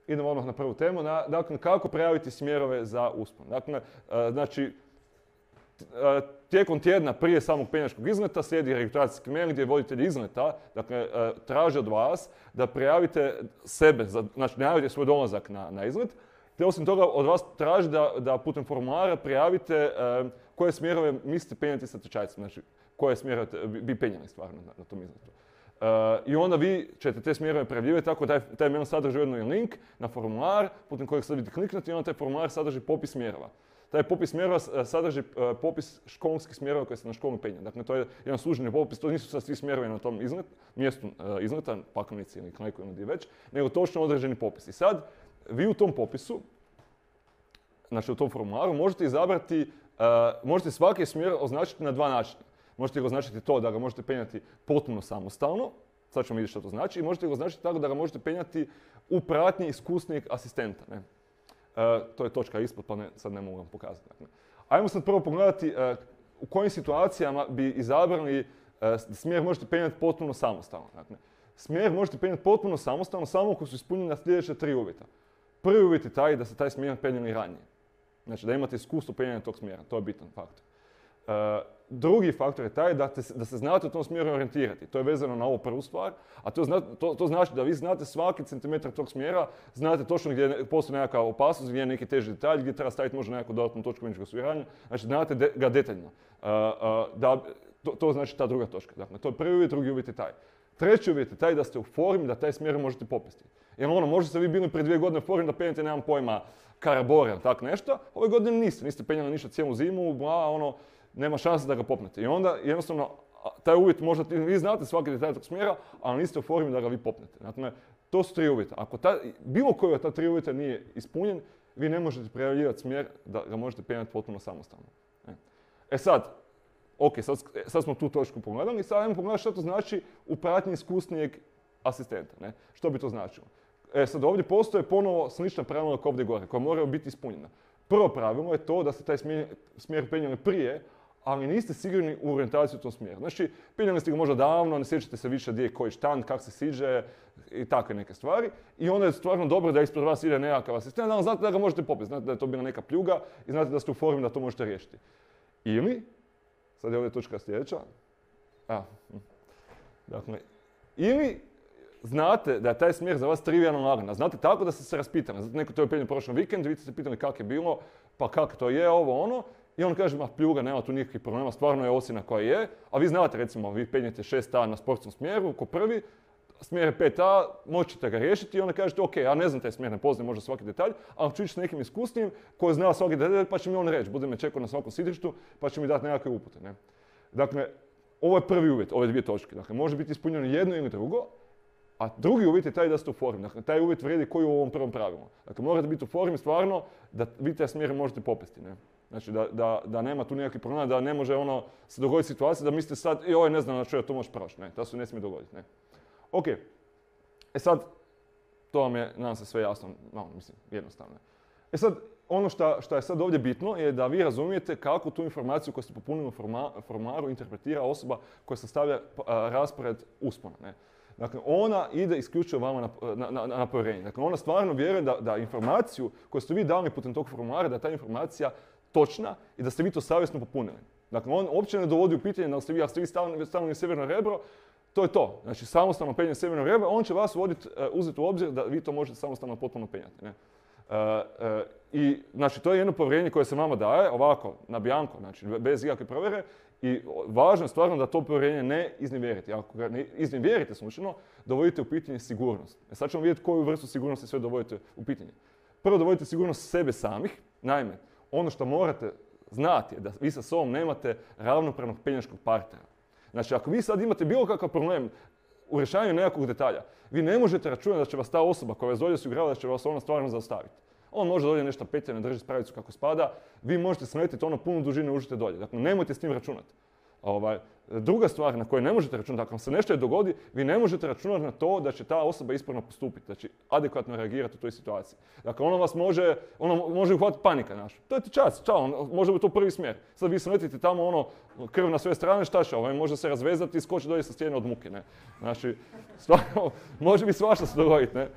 idemo odmah na prvu temu. Dakle, kako prijaviti smjerove za uspon. Dakle, znači, tijekom tjedna prije samog penjačkog izleta slijedi registracijski mail gdje voditelj izleta, dakle, traži od vas da prijavite sebe, znači najavite svoj dolazak na izlet, te osim toga od vas traži da putem formulara prijavite koje smjerove mislite penjati sa tečajcem, znači koje smjerove bi penjali stvarno na tom izletu. I onda vi ćete te smjerove prijavljivati tako da taj mail sadrži ujedno i link na formular putem kojeg sad vidite kliknuti i onda taj formular sadrži popis smjerova. Taj popis smjerova sadrži popis školskih smjerova koje se na školu penja. Dakle, to je jedan službeni popis, to nisu sad svi smjerovi na tom mjestu izleta, Pakovnici ili Knajku ili gdje već, nego točno određeni popis. I sad, vi u tom popisu, znači u tom formularu, možete izabrati, možete svaki smjer označiti na dva načina. Možete ga označiti to da ga možete penjati potpuno samostalno, sad ćemo vidjeti što to znači, i možete ga označiti tako da ga možete penjati u pratnji iskusnijeg asistenta. Ne? To je točka ispod, pa sad ne mogu vam pokazati. Dakle. Ajmo sad prvo pogledati u kojim situacijama bi izabrali smjer možete penjati potpuno samostalno. Dakle, smjer možete penjati potpuno samostalno samo ako su ispunjena sljedeća 3 uvjeta. Prvi uvjet je taj da se taj smjer penjali ranije. Znači da imate iskustvo penjanja tog smjera, to je bitan faktor. Drugi faktor je taj da se znate u tom smjeru orijentirati. To je vezano na ovu prvu stvar, a to znači da vi znate svaki centimetar tog smjera, znate točno gdje postoji nekakva opasnost, gdje je neki teži detalj, gdje treba staviti možda nekakvu dodatnu točku kliničkog osiguranja. Znači znate ga detaljno. To znači ta druga točka. Dakle, to je prvi uvjet, drugi uvjet je taj. Treći uvjet je taj da ste u formi da taj smjer možete popesti. Jer možda ste vi bili prije 2 godine u formi da penjate, nemam pojma, karabore ili tak nešto. Ove godine niste penjali ništa cijelu zimu, nema šanse da ga popnete. I onda jednostavno taj uvjet možda vi znate svaki detalj tog smjera, ali niste u formi da ga vi popnete. Dakle, to su 3 uvjeta. Ako bilo koji od ta 3 uvjeta nije ispunjen, vi ne možete prijavljivati smjer da ga možete penjati potpuno samostalno. Sad, sad smo tu točku pogledali i sad ajmo pogledati što to znači u pratnji iskusnijeg asistenta. Ne? Što bi to značilo? Sad ovdje postoje ponovo slična pravila kao ovdje gore, koja moraju biti ispunjena. Prvo pravilo je to da ste taj smjer penjali prije, ali niste sigurni u orijentaciju u tom smjeru. Znači, penjali ste ga možda davno, ne sjećate se više gdje je koji štand, kako se siđe i takve neke stvari. I onda je stvarno dobro da ispred vas ide nekakav asistent, ali znate da ga možete popiti, znate da je to bila neka pljuga i znate da ste u formi da to možete riješiti. Ili, sad je ovdje točka sljedeća, dakle, ili znate da je taj smjer za vas trivijalno lagan, znate tako da ste se raspitali. Znate, neko to je penjao prošlom vikendu, vi ste se pitali kako je bilo, pa kako to je, ovo, ono. I on kaže, pljuga, nema tu nikakvih problema, stvarno je ocjena koja je. A vi znate, recimo, vi penjete 6A na sportskom smjeru, ko prvi, smjer je 5A, možete ga riješiti i onda kažete, ok, ja ne znam taj smjer, ne poznajem možda svaki detalj, ali ću ići s nekim iskusnim koji zna svaki detalj, pa će mi on reći, bude me čekao na svakom sidrištu, pa će mi dati nekakve upute. Ne? Dakle, ovo je prvi uvjet, ove 2 točke. Dakle, može biti ispunjeno jedno ili drugo. A drugi uvjet je taj da ste u formi. Dakle, taj uvjet vrijedi koji u ovom prvom pravilu. Dakle, morate biti u formi stvarno da vi taj smjer možete popesti. Ne? Znači, da nema tu nekakvih problema, da ne može se dogoditi situacija da mislite sad, joj, ne znam na što ja to možeš proći. Ne, to se ne smije dogoditi. Ne? Ok, sad, to vam je, nadam se, sve jasno, jednostavno. Sad, ono što je sad ovdje bitno je da vi razumijete kako tu informaciju koju ste popunili u formularu interpretira osoba koja sastavlja raspored uspona. Ne? Dakle, ona ide isključivo vama na povjerenje. Dakle, ona stvarno vjeruje da informaciju koju ste vi dali putem tog formulara, da je ta informacija točna i da ste vi to savjesno popunili. Dakle, on uopće ne dovodi u pitanje da ste vi stavili sjeverno rebro, to je to. Znači, samostalno penjanje sjeverno rebro, on će vas uzeti u obzir da vi to možete samostalno potpuno penjati. Ne? I, znači, to je jedno povjerenje koje se vama daje, ovako, na bianco, znači, bez ikakve provjere. I važno je stvarno da to povjerenje ne iznevjerite. Ako ga ne iznevjerite slučajno, dovodite u pitanje sigurnost. Sad ćemo vidjeti koju vrstu sigurnosti sve dovodite u pitanje. Prvo dovodite sigurnost sebe samih. Naime, ono što morate znati je da vi sa sobom nemate ravnopravnog penjačkog partnera. Znači, ako vi sad imate bilo kakav problem u rješavanju nekakvog detalja, vi ne možete računati da će vas ta osoba koja vas dolje osigurava da će vas ona stvarno zaustaviti. On može dolje nešto petlje, ne drži spravicu kako spada, vi možete smetiti punu dužinu i užite dolje. Dakle, nemojte s tim računati. Druga stvar na kojoj ne možete računati, ako vam se nešto dogodi, vi ne možete računati na to da će ta osoba ispravno postupiti, da će adekvatno reagirati u toj situaciji. Dakle, ona može uhvatiti panika naša. To je ti čas, čao, može biti to prvi smjer. Sad vi smetite tamo krv na sve strane, šta će, može se razvezati i skoči dolje sa stijene od muke. Ne? Znači, stvarno, može biti svašta se dogoditi. Ne?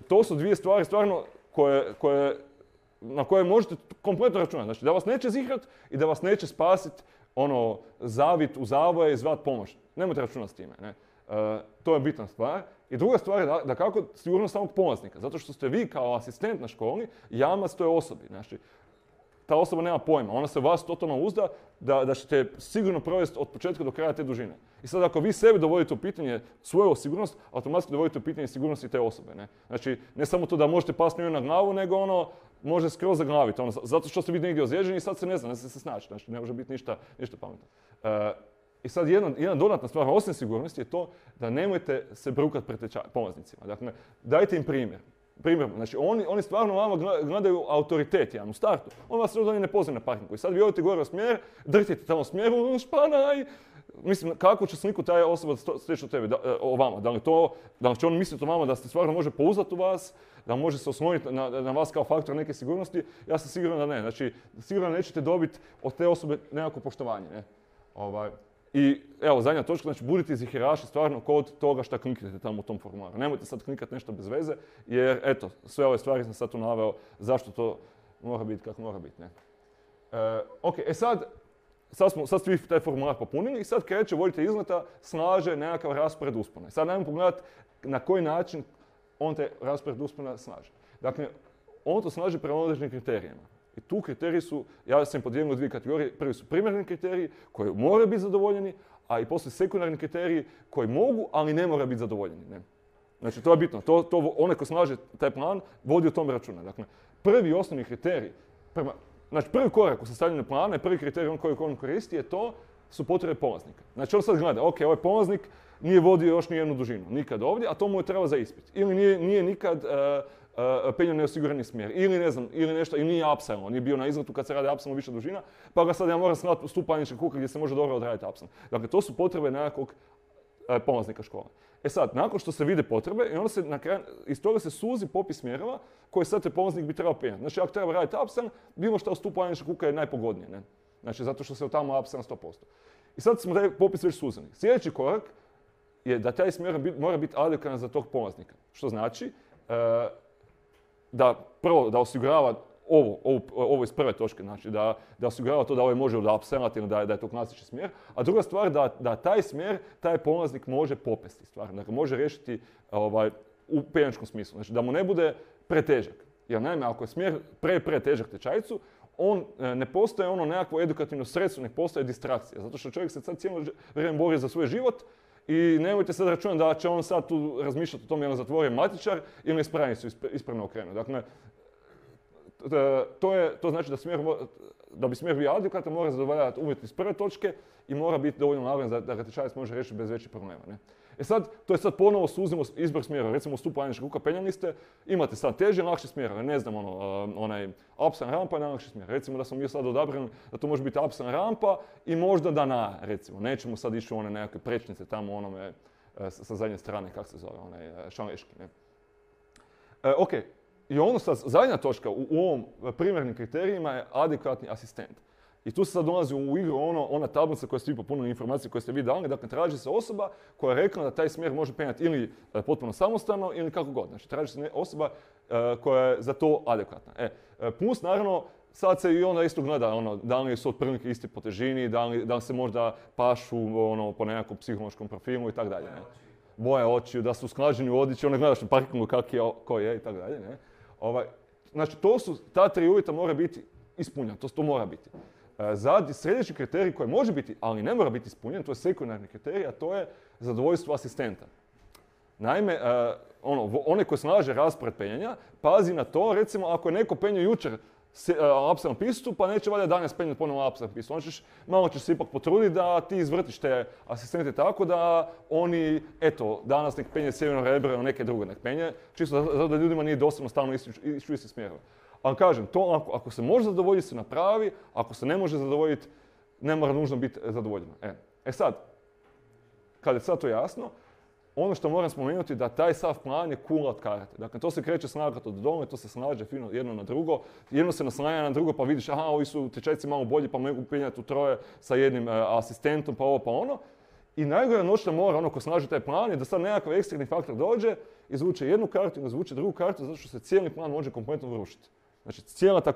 To su dvije stvari stvarno na koje možete kompletno računati. Znači da vas neće zihrat i da vas neće spasiti zavit u zavoje i zvat pomoć. Nemojte računati s time. Ne? To je bitna stvar. I druga stvar je da kako sigurnost samog polaznika. Zato što ste vi kao asistent na školi jamac toj osobi. Znači, ta osoba nema pojma. Ona se vas totalno uzda da ćete sigurno provesti od početka do kraja te dužine. I sad ako vi sebi dovodite u pitanje svoju sigurnost, automatski dovodite u pitanje sigurnosti te osobe. Ne? Znači, ne samo to da možete pasti njoj na glavu, nego može skroz zaglaviti. Zato što ste vi negdje ozlijeđeni i sad se ne zna, ne se snaći. Znači, ne može biti ništa pametno. I sad jedna dodatna stvar, osim sigurnosti, je to da nemojte se brukati pred polaznicima. Dakle, dajte im primjer. Znači, oni stvarno vama gledaju autoritet u startu. On vas ne poznaje na parkingu. I sad vi odete gore u smjer, drhtite tamo u smjeru, španaj. Mislim, kako će sliku taj osoba steći od tebe, o vama? Da li će on misliti o vama da se stvarno može pouzdati u vas, da može se osloniti na vas kao faktor neke sigurnosti? Ja sam siguran da ne. Znači, sigurno nećete dobiti od te osobe nekako poštovanje. Ne? I evo, zadnja točka, znači budite ziheraši stvarno kod toga šta kliknete tamo u tom formularu. Nemojte sad klikati nešto bez veze, jer eto, sve ove stvari sam sad tu naveo zašto to mora biti kako mora biti. Sad ste vi taj formular popunili i sad kreće voditelj izleta, slaže nekakav raspored uspona. Sad najmo pogledati na koji način on taj raspored uspona slaže. Dakle, on to slaže prema određenim kriterijima. I tu kriteriji su, ja sam podijelio u dvije kategorije, prvi su primarni kriteriji koji moraju biti zadovoljeni, a i poslije sekundarni kriteriji koji mogu, ali ne moraju biti zadovoljeni. Ne? Znači, to je bitno. Onaj ko slaže taj plan vodi o tome računa. Dakle, prvi osnovni kriterij, znači prvi korak u sastavljanju plana i prvi kriterij koji on koristi je to su potrebe polaznika. Znači, on sad gleda, ok, ovaj polaznik nije vodio još ni jednu dužinu, nikad ovdje, a to mu je treba za ispit. Ili nije nikad penjao neosigurani smjer, ili ne znam, ili nešto, ili nije apsilon, on nije bio na izletu kad se radi apsilon više dužina, pa ga sad ja moram slati u stupanički kuk gdje se može dobro odraditi apsilon. Dakle, to su potrebe nekakvog polaznika škole. Sad, nakon što se vide potrebe, i onda se na kraju, iz toga se suzi popis smjerova koji sad te polaznik bi trebao penjati. Znači, ako treba raditi apsilon, bilo što u stupanički kuka je najpogodnije, ne? Znači, zato što se tamo apsilon 100%. I sad smo taj popis već suzili. Sljedeći korak je da taj smjer mora biti adekvatan za tog polaznika. Što znači da prvo da osigurava ovo iz prve točke, znači da osigurava to da ovaj može apsilonati ili da je to klasični smjer, a druga stvar da taj smjer, taj polaznik može popesti stvarno, dakle može riješiti u penjačkom smislu, znači da mu ne bude pretežak. Jer naime, ako je smjer pretežak tečajcu, on ne postaje nekakvo edukativno sredstvo, ne postaje distrakcija, zato što čovjek se sad cijelo vrijeme bori za svoj život i nemojte sad računati da će on sad tu razmišljati o tome jel zatvori matičar ili ispravnicu ispravno okrenu. Dakle, to znači da bi smjer bio adekvatan mora zadovoljavati uvjeti iz prve točke i mora biti dovoljno naravno da ga tečajac može riješiti bez većih problema. Ne? To je sad ponovo suzimo izbor smjera. Recimo u stupanički kuka penjali ste, imate sad teži i lakši smjer. Ne znam, onaj apsilon rampa i najlakši smjer. Recimo da smo mi sad odabrali da to može biti apsilon rampa i možda da na, recimo. Nećemo sad ići u one nekakve prečnice tamo onome sa zadnje strane, kako se zove, onaj šaleški. Ne? Ok, i ono sad, zadnja točka u ovom primjernim kriterijima je adekvatni asistent. I tu se sad dolazi u igru ona tablica koja ste vi popunili, informacije koje ste vi dali, dakle traži se osoba koja je rekla da taj smjer može penjati ili potpuno samostalno ili kako god. Znači traži se osoba koja je za to adekvatna. Plus naravno, sad se i onda isto gleda da li su otprilike isti po težini, da li se možda pašu po nekakvom psihološkom profilu i tako dalje. Boje očiju, da su usklađeni u odjeći, onda gledaš na parkingu ko je i tako dalje. Znači ta tri uvjeta mora biti ispunjena, to mora biti. Sljedeći kriterij koji može biti, ali ne mora biti ispunjen, to je sekundarni kriterij, a to je zadovoljstvo asistenta. Naime, onaj koji slaže raspored penjanja, pazi na to, recimo ako je neko penjao jučer apsilon pistu, pa neće valjda danas penjati ponovno apsilon pistu. Malo ćeš se ipak potruditi da ti izvrtiš te asistente tako da oni, danas nek penje sjeverno rebro ili neke druge nek penje, čisto zato da ljudima nije dosadno stalno ići u isti smjerove. Ali kažem, to ako se može zadovoljiti se napravi, ako se ne može zadovoljiti, ne mora nužno biti zadovoljeno. Sad, kad je sad to jasno, ono što moram spomenuti da taj sav plan je kula od karate. Dakle, to se kreće slagati od dole, to se slaže fino jedno na drugo, jedno se naslanja na drugo pa vidiš, ovi su tečajci malo bolji pa mogu penjati u troje sa jednim asistentom pa ovo pa ono. I najgora noćna mora, ono ko snaži taj plan, je da sad nekakav eksterni faktor dođe, izvuče jednu kartu, izvuče drugu kartu, zato što se cijeli plan može kompletno urušiti. Znači, cijela ta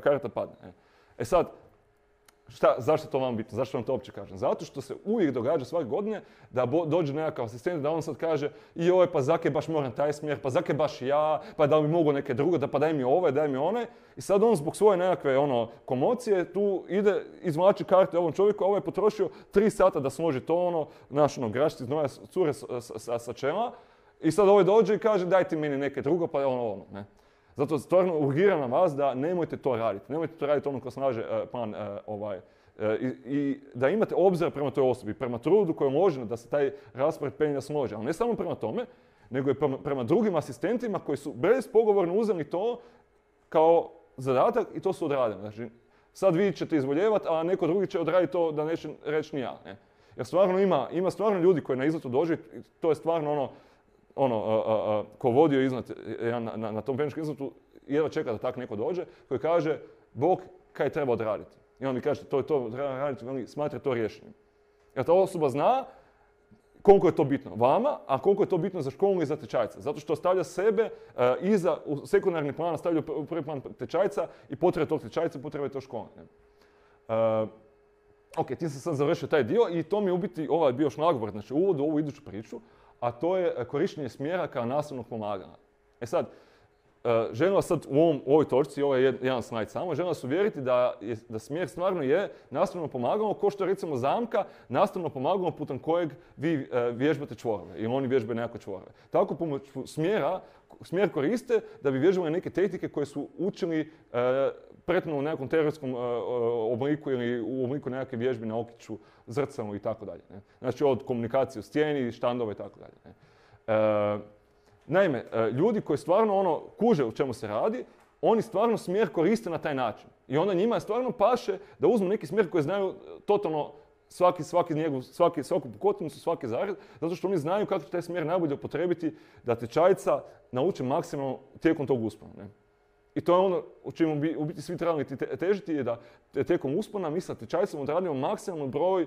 karta padne. E sad, zašto je to vam bitno? Zašto vam to uopće kažem? Zato što se uvijek događa svake godine da dođe nekakav asistent, da on sad kaže joj, pa zake baš moram taj smjer, pa zake baš ja, pa da li mogu neke druge, pa daj mi ovaj, daj mi one. I sad on zbog svoje nekakve komocije tu ide, izvlači karte ovom čovjeku, a ovaj je potrošio 3 sata da složi to grašci znoja cure sa čela. I sad ovaj dođe i kaže daj ti meni neke drugo, pa ne. Zato stvarno urgiram na vas da nemojte to raditi. Nemojte to raditi ko snaže plan i da imate obzir prema toj osobi, prema trudu koji je uložen da se taj raspored penja složi. Ali ne samo prema tome, nego i prema drugim asistentima koji su bespogovorno uzeli to kao zadatak i to su odradili. Znači, sad vi ćete izvoljevati, a neko drugi će odraditi to da neće reći ni ja. Ne? Jer stvarno ima stvarno ljudi koji na izletu dođu, to je stvarno ko vodio iznad na tom penjačkom izletu, jedva čeka da tak neko dođe, koji kaže, Bog, kaj treba odraditi? I on mi kaže, to treba raditi, oni smatra to rješenjem. Jer ta osoba zna koliko je to bitno vama, a koliko je to bitno za školu i za tečajca. Zato što stavlja sebe u sekundarni plan, stavlja u prvi plan tečajca i potrebe tog tečajca, potrebe to škole. Ok, tim sam sad završio taj dio i to mi je u biti bio šlagvort, znači uvod u ovu iduću priču, a to je korištenje smjera kao nastavnog pomagala. E sad, želim vas sad u ovoj točci, ovo je jedan slajd samo, želim vas uvjeriti da smjer stvarno je nastavno pomagalo, kao što je recimo zamka, nastavno pomagalo putem kojeg vi vježbate čvorove ili oni vježbaju nekakve čvorove. Tako pomoć smjer koriste da bi vježbali neke tehnike koje su učili prethodno u nekakvom teoretskom obliku ili u obliku nekakve vježbe na okiću, zrcalu i tako dalje. Znači od komunikacije u stijeni, štandova i tako dalje. Naime, ljudi koji stvarno kuže u čemu se radi, oni stvarno smjer koriste na taj način. I onda njima stvarno paše da uzmu neki smjer koji znaju totalno svaku pukotnicu, svaki zared, zato što oni znaju kako će taj smjer najbolje upotrebiti da tečajca nauče maksimalno tijekom tog uspona. I to je ono u čemu bi u biti svi trebali težiti je da tijekom uspona mi sa tečajcem odradimo maksimalno broj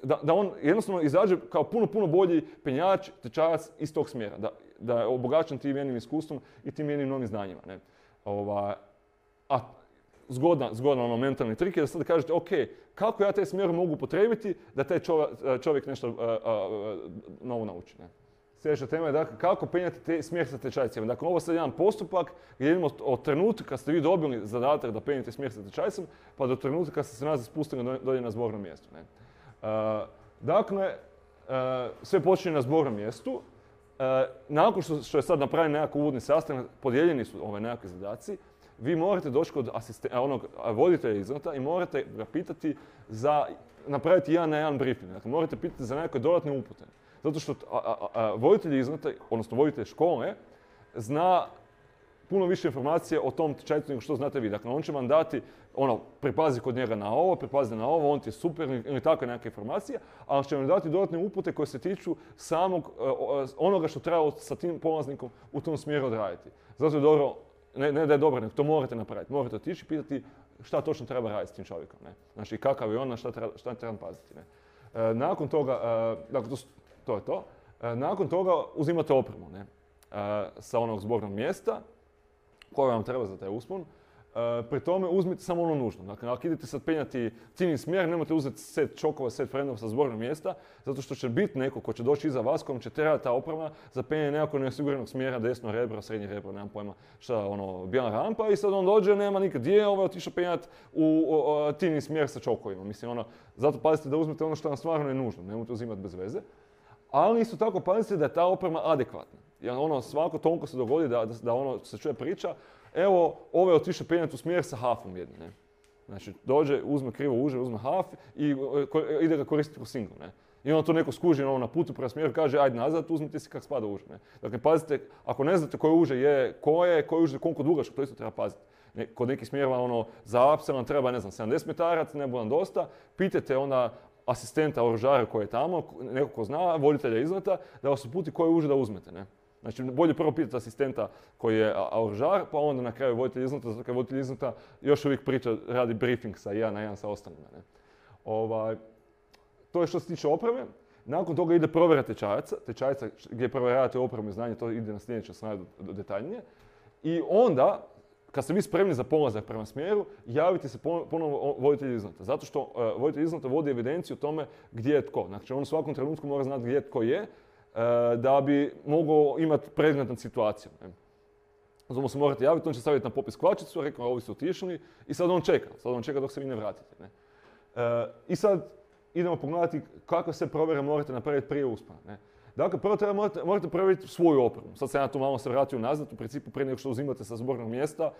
da on jednostavno izađe kao puno bolji penjač, tečajac iz tog smjera. Da je obogaćen tim jednim iskustvom i tim jednim novim znanjima. Ne? A zgodan mentalni trik je da sad kažete, ok, kako ja taj smjer mogu upotrijebiti da taj čovjek nešto novo nauči. Ne? Sljedeća tema je dakle, kako penjati smjer sa tečajcima. Dakle, ovo je sad jedan postupak gdje idemo od trenutka kad ste vi dobili zadatak da penjate smjer sa tečajcem, pa do trenutka kad ste se nazad spustili dolje na zbornom mjestu. Ne? Dakle, sve počinje na zbornom mjestu. Nakon što je sad napravljen nekakav uvodni sastanak, podijeljeni su nekakvi zadaci, vi morate doći kod voditelja izleta i morate ga pitati napraviti 1 na 1 briefing. Dakle, morate pitati za nekakve dodatne upute. Zato što voditelj izleta, odnosno voditelj škole, zna puno više informacije o tom tečajcu nego što znate vi. Dakle, on će vam dati, pripazi kod njega na ovo, pripazi na ovo, on ti je super ili takve neke informacije, ali će vam dati dodatne upute koje se tiču samog onoga što treba sa tim polaznikom u tom smjeru odraditi. Zato je dobro, ne da je dobro, nego to morate napraviti. Morate otići i pitati šta točno treba raditi s tim čovjekom. Ne? Znači, kakav je on, na šta treba paziti. Ne? Nakon toga, dakle, to je to. Nakon toga uzimate opremu sa onog zbornog mjesta koje vam treba za taj uspon. Pri tome uzmite samo ono nužno. Dakle, ako idete sad penjati ciljni smjer, nemojte uzeti set čokova, set frendova sa zbornog mjesta, zato što će biti neko ko će doći iza vas, kojem će trebati ta oprema za penjanje nekako neosiguranog smjera, desno rebro, srednje rebro, nemam pojma šta, bijela rampa i sad on dođe, nema nikad gdje, otišao penjati u ciljni smjer sa čokovima. Mislim, zato pazite da uzmete ono što vam stvarno je nužno, nemojte uzimati bez veze. Ali isto tako pazite da je ta oprema adekvatna. Jer svako toliko se dogodi da se čuje priča, evo, ovo je otišao penjati u smjer sa hafom jednim. Ne? Znači, dođe, uzme krivo uže, uzme haf i ide ga koristiti u singl. Ne? I onda to neko skuži na putu prema smjeru, kaže, ajde nazad, uzmite si kak spada uže. Ne? Dakle, pazite, ako ne znate koje uže je, koje uže koliko dugačko, to isto treba paziti. Kod nekih smjerova, za apsel vam treba, 70 metarac, ne bude vam dosta, pitajte onda asistenta oružara koji je tamo, neko ko zna, voditelja izleta, da vas uputi koje uže da uzmete. Ne? Znači, bolje prvo pitati asistenta koji je oružar, pa onda na kraju voditelj izleta, zato kad voditelj izleta još uvijek radi briefing sa 1 na 1 sa ostalima. Ne? To je što se tiče opreme. Nakon toga ide provjera tečajaca gdje provjeravate opremu i znanje, to ide na sljedećem slajdu detaljnije. I onda, kad ste vi spremni za polazak prema smjeru, javite se ponovo voditelju izleta. Zato što voditelj izleta vodi evidenciju o tome gdje je tko. Znači on u svakom trenutku mora znati gdje tko je, da bi mogao imati pregled nad situacijom. Zato mu se morate javiti, on će staviti na popis kvačicu, rekao ovi su otišli i sad on čeka dok se vi ne vratite. I sad idemo pogledati kakve sve provjere morate napraviti prije uspona. Dakle, prvo morate provjeriti svoju opremu. Sad sam ja tu malo se vratio nazad, u principu prije nego što uzimate sa zbornog mjesta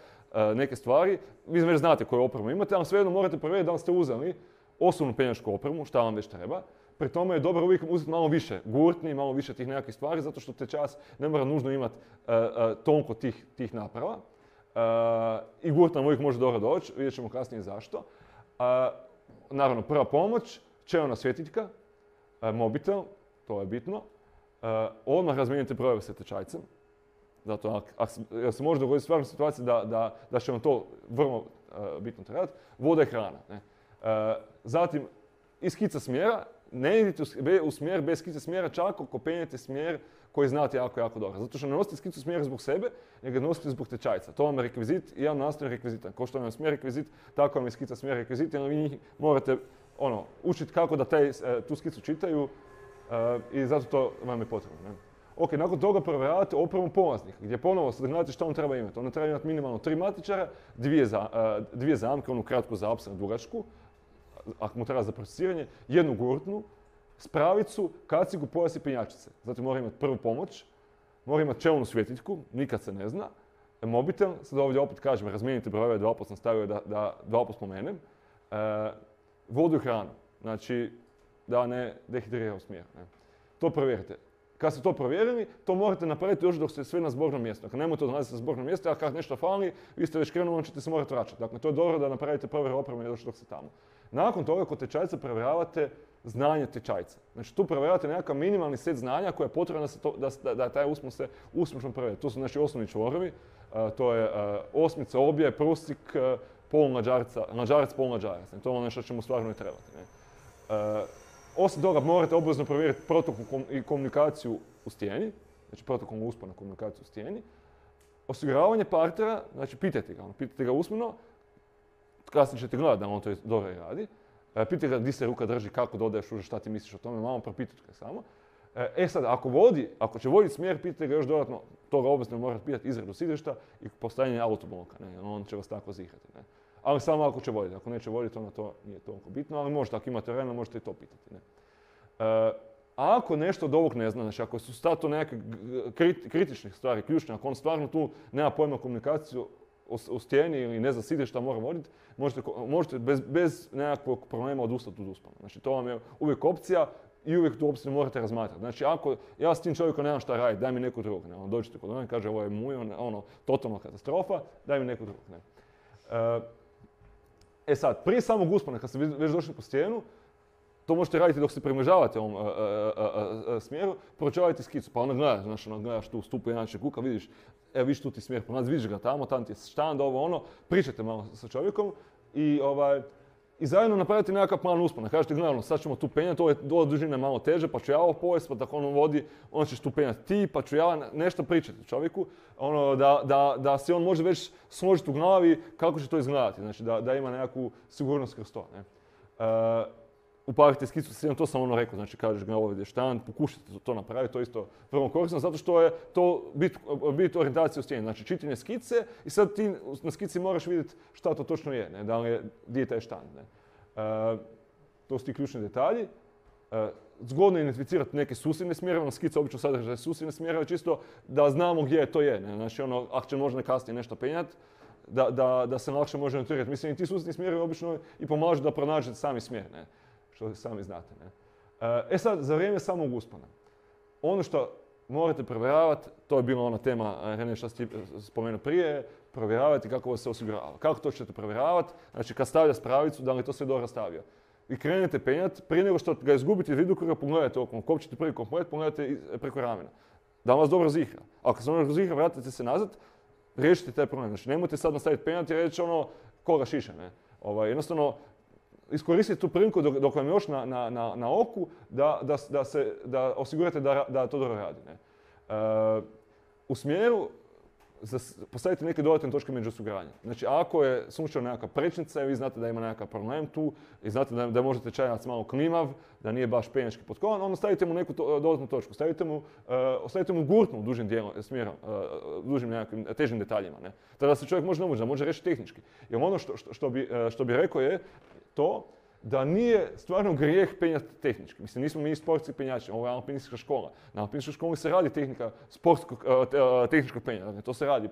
neke stvari. Vi već znate koju opremu imate, ali svejedno morate provjeriti da li ste uzeli osobnu penjačku opremu, šta vam već treba. Pri tome je dobro uvijek uzeti malo više gurtni, malo više tih nekakvih stvari, zato što tečajac ne mora nužno imati toliko tih naprava. I gurt nam uvijek može dobro doći, vidjet ćemo kasnije zašto. Naravno, prva pomoć, čelna svjetiljka, mobitel, to je bitno. Odmah razmijenite brojeve sa tečajcem. Zato jer se može dogoditi stvarno situacija da će vam to vrlo bitno trebati. Voda i hrana. Zatim, i skica smjera. Ne idite u smjer bez skice smjera čak ako penjete smjer koji znate jako, jako dobro. Zato što ne nosite skicu smjera zbog sebe, nego ga nosite zbog tečajca. To vam je rekvizit i jedan nastavni rekvizita. Kao što vam je smjer rekvizit, tako vam je skica smjera rekvizit, jer vi njih morate učiti kako da tu skicu čitaju i zato to vam je potrebno. Ok, nakon toga provjeravate opremu polaznika, gdje ponovo sad gledate što on treba imati. On treba imati minimalno 3 matičara, dvije zamke, onu kratku za apsar, dugačku, ako mu treba za procesiranje, jednu gurtnu, spravicu, kacigu, pojas i penjačice. Zatim mora imati prvu pomoć, mora imati čelnu svjetiljku, nikad se ne zna, mobitel, sad ovdje opet kažem, razmijenite brojeve, 2 put sam stavio da 2 put spomenem, vodu i hranu, znači da ne dehidrira u smjer. To provjerite. Kad ste to provjerili, to morate napraviti još dok ste sve na zbornom mjestu. Dakle, nemojte odlaziti sa zbornog mjesta, a kad nešto fali, vi ste već krenuli, onda ćete se morati vraćati. Dakle, to je dobro da napravite provjeru opreme još dok ste tamo. Nakon toga, kod tečajca provjeravate znanje tečajca. Znači, tu provjeravate nekakav minimalni set znanja koje je potrebno da taj uspon se uspješno provjeri. To su naši osnovni čvorovi, to je osmica, obje, prusik, mađarac, polmađarac. To je ono što će mu stvarno i trebati. Osim toga, morate obvezno provjeriti protokol i komunikaciju u stijeni, znači protokol uspona komunikaciju u stijeni. Osiguravanje partnera, znači pitajte ga usmeno, kasnije ćete gledati da on to dobro radi. Pitajte ga gdje se ruka drži, kako dodaješ uže, šta ti misliš o tome, malo propitajte ga samo. Sad, ako će voditi smjer, pitajte ga još dodatno, toga obvezno morate pitati izradu sidrišta i postavljanje autobloka, on će vas tako zihrati. Ali samo ako će voditi. Ako neće voditi, onda to nije toliko bitno, ali možete, ako imate vremena, možete i to pitati. A ako nešto od ovog ne zna, znači ako su to neke kritične stvari, ključne, ako on stvarno tu nema pojma komunikaciju u stijeni ili ne zna sidrišta mora voditi, možete bez nekakvog problema odustati od uspona. Znači to vam je uvijek opcija i uvijek tu opciju morate razmatrati. Znači ako ja s tim čovjekom nemam šta raditi, daj mi neku drugog. Dođete kod ono i kaže ovo je muj, totalna katastrofa, daj mi neku drugog. Sad, prije samog uspona, kad ste već došli po stijenu, to možete raditi dok se približavate ovom smjeru, proučavajte skicu, pa onda gledaš tu stupu jednače kuka, vidiš, vidiš tu ti smjer ponad, vidiš ga tamo ti je štand, pričajte malo sa čovjekom i zajedno napravite nekakav plan uspona. Kažete, gledajte, sad ćemo tu penjati, ova dužina je malo teže, pa ću ja ovo povesti, pa tako on vodi, on ćeš tu penjati ti, pa ću ja nešto pričati čovjeku, da se on može već složiti u glavi kako će to izgledati, znači da ima nekakvu sigurnost kroz to. Upavite skicu sa to sam rekao, znači kažeš ga ovdje štand, pokušajte to napraviti, to je isto vrlo korisno, zato što je to bit orijentacije u stijeni, znači čitanje skice i sad ti na skici moraš vidjeti šta to točno je, da li je, gdje je taj štand. To su ti ključni detalji. Zgodno je identificirati neke susjedne smjerove, na skica obično sadržaje susjedne smjerove, čisto da znamo gdje to je, znači ako će možda kasnije nešto penjati, da se lakše može orijentirati. Mislim, i ti susjedni smjerovi obično i pomažu da pronađete sami smjer. Što sami znate. Sad, za vrijeme samog uspona. Ono što morate provjeravati, to je bila ona tema, Rene, što ste spomenuo prije, provjeravati kako vas se osigurava. Kako to ćete provjeravati? Znači, kad stavlja spravicu, da li je to sve dobro stavio. I krenete penjati, prije nego što ga izgubite iz vidokruga, pogledajte okolo. Kopčite prvi komplet, pogledajte preko ramena. Da vas dobro zihra. Ako se dobro zihra, vratite se nazad, riješite taj problem. Znači, nemojte sad nastaviti penjati i reći koga šiša. Jednostavno, iskoristite tu priliku dok vam je još na oku da osigurate da to dobro radi. Ne? U smjeru postavite neke dodatne točke među osiguranja. Znači, ako je slučajno nekakva prečnica i vi znate da ima nekakav problem tu i znate da možete tečajac malo klimav, da nije baš penjački potkovan, onda stavite mu neku dodatnu točku. Stavite mu gurtnu u dužim dijelom smjerom, dužim nekakvim težim detaljima. Ne? Tada se čovjek može reći tehnički. Jer ono što bi rekao je to da nije stvarno grijeh penjati tehnički. Mislim, nismo mi sportski penjači, ovo je alpinistička škola. Na alpinističkoj školi se radi tehnika tehničkog penjanja, dakle, to se radi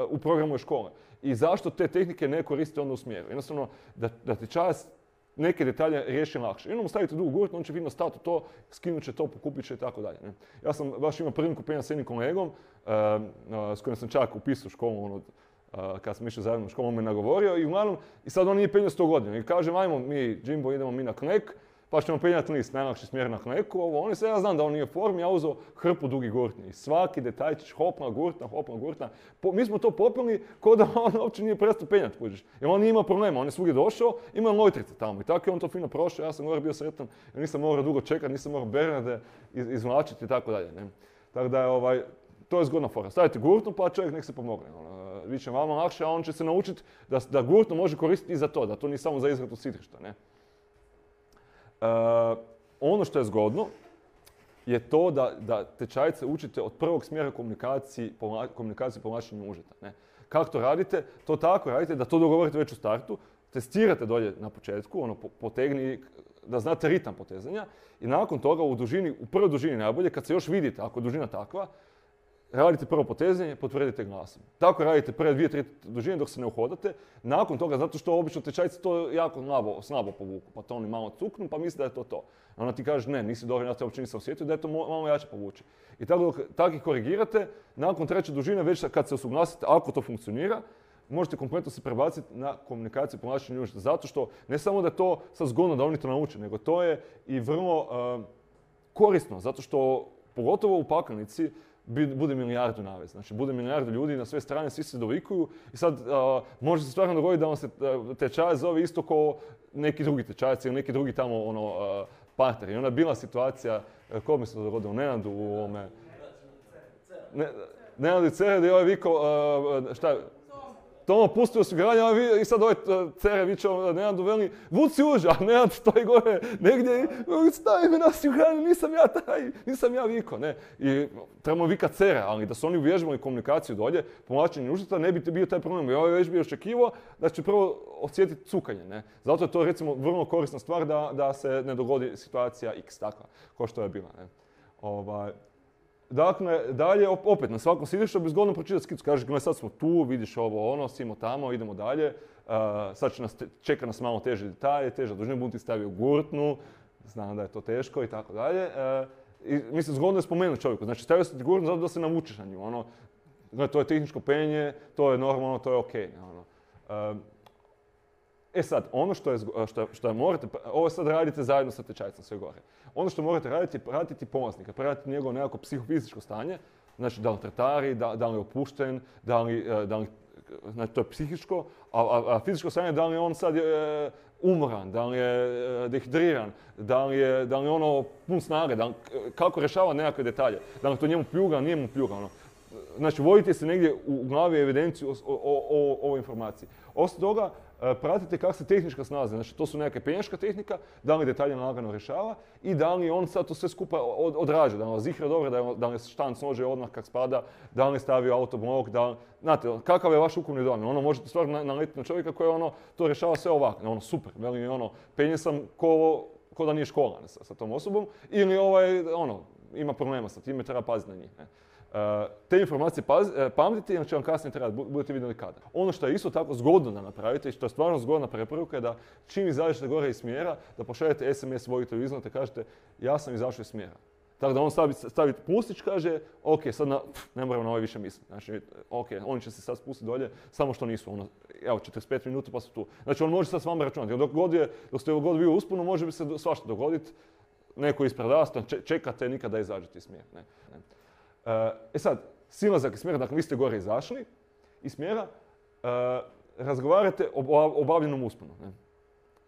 u programu škole. I zašto te tehnike ne koriste onda u smjeru? Jednostavno, da ti čas neke detalje riješi lakše. I onda mu stavite dugu gurtnu, on će vidno stati u to, skinut će to, pokupit će i tako dalje. Ja sam baš imao priliku penjati s jednim kolegom, s kojim sam čak upisao školu, kad sam išao zajedno u školu, on me nagovorio i sad on nije penjao 100 godina. I kažem, ajmo mi, Jimbo, idemo mi na Knek, pa ćemo penjati list, najlakši smjer na Kneku, ja znam da on nije u formi, ja uzeo hrpu dugi gurtni. I svaki detaljčić, hopna gurtna. Mi smo to popili ko da on uopće nije prestao penjati, kužiš. Jer on nije imao problema, on je svugdje došao, imao lojtrice tamo. I tako je on to fino prošao, ja sam gore bio sretan, jer nisam morao dugo čekati, nisam morao Bernarde izvlačiti i tako dalje. Tako da je to je zgodna fora. Stavite gurtnu pa čovjek nek se pomogne. Bit će vama lakše, a on će se naučiti da gurtnu može koristiti i za to, da to nije samo za izradu sidrišta. Ono što je zgodno je to da tečajce učite od prvog smjera komunikacije povlačenju užeta. Ne? Kako to radite? To tako radite da to dogovorite već u startu, testirate dolje na početku, potegni, da znate ritam potezanja i nakon toga u prvoj dužini najbolje, kad se još vidite, ako je dužina takva, radite prvo potezanje, potvrdite glasom. Tako radite prve 2-3 dužine dok se ne uhodate. Nakon toga, zato što obično tečajci to jako slabo povuku, pa to oni malo cuknu, pa misle da je to to. A onda ti kažeš ne, nisi dobro, ja te uopće nisam osjetio, da je to malo jače povući. I tako dok tako ih korigirate, nakon treće dužine, već kad se usuglasite, ako to funkcionira, možete kompletno se prebaciti na komunikaciju povlačenja užeta. Zato što ne samo da je to sad zgodno da oni to nauče, nego to je i vrlo korisno, zato što pogotovo u pakanici bude milijardu navez. Znači, bude milijardu ljudi na sve strane, svi se dovikuju i sad može se stvarno dogoditi da vam se tečajac zove isto kao neki drugi tečajac ili neki drugi tamo partner. I onda je bila situacija, ko mi se to dogodilo, Nenadu u ovome... Nenadu i Cere, gdje je ovaj vikao, šta je... Tomo pusti osiguranje i sad ovaj Cere viče Nenadu veli, vuci uđa, a Nenad stoji gore negdje i stavi me na osiguranje, nisam ja vikao, ne. I trebamo vikat Cere, ali da su oni uvježbali komunikaciju dolje, povlačenje užeta, ne bi bio taj problem. I ovaj već bi očekivao da će prvo osjetiti cukanje, ne. Zato je to recimo vrlo korisna stvar da se ne dogodi situacija X takva, kao što je bila, ne. Dakle, dalje, opet, na svakom sidrištu bi zgodno pročitati skicu. Kažeš, gle, sad smo tu, vidiš ovo, simo tamo, idemo dalje. Sad čeka nas malo teže detalje, teža dužina, budem ti stavio gurtnu, znam da je to teško i tako dalje. I mislim, zgodno je spomenuti čovjeku. Znači, stavio se ti gurtnu zato da se navučeš na nju. To je tehničko penje, to je normalno, to je okej. Sad, ono što morate, ovo sad radite zajedno sa tečajcem sve gore. Ono što morate raditi je pratiti polaznika, pratiti njegovo nekako psihofizičko stanje, znači da li tretari, da li je opušten, znači to je psihičko, a fizičko stanje da li je on sad umoran, da li je dehidriran, da li je pun snage, kako rješava nekakve detalje, da li to njemu pljuga, nije mu pljuga. Znači, vodite se negdje u glavi evidenciju o ovoj informaciji. Osim toga, pratite kako se tehnička snalazi. Znači, to su nekakve penjaška tehnika, da li detalje lagano rješava i da li on sad to sve skupa odrađa, da li zihra dobro, da li štanc nože odmah kak spada, da li stavio autoblok, znate, kakav je vaš ukupni dojam. Možete stvarno naletiti na čovjeka koji to rješava sve ovako. Super, penje sam ko da nije škola sa tom osobom ili ima problema sa time, treba paziti na njih. Te informacije pamtite, jer će vam kasnije trebati, budete vidjeli kada. Ono što je isto tako zgodno da napravite i što je stvarno zgodna preporuka je da čim izađete gore iz smjera, da pošaljete SMS voditelju izleta i kažete ja sam izašao iz smjera. Tako da on stavi pustić, kaže ok, sad ne moram na ovaj više misliti. Znači, ok, oni će se sad spustiti dolje, samo što nisu. Evo, 45 minuta pa su tu. Znači, on može sad s vama računati. Dok ste god vi u usponu, može bi se svašta dogoditi. Neko ispred vas, čekate nikada izađete iz smjera. Sad, silazak iz smjera, dakle vi ste gore izašli iz smjera, razgovarate o obavljenom usponu.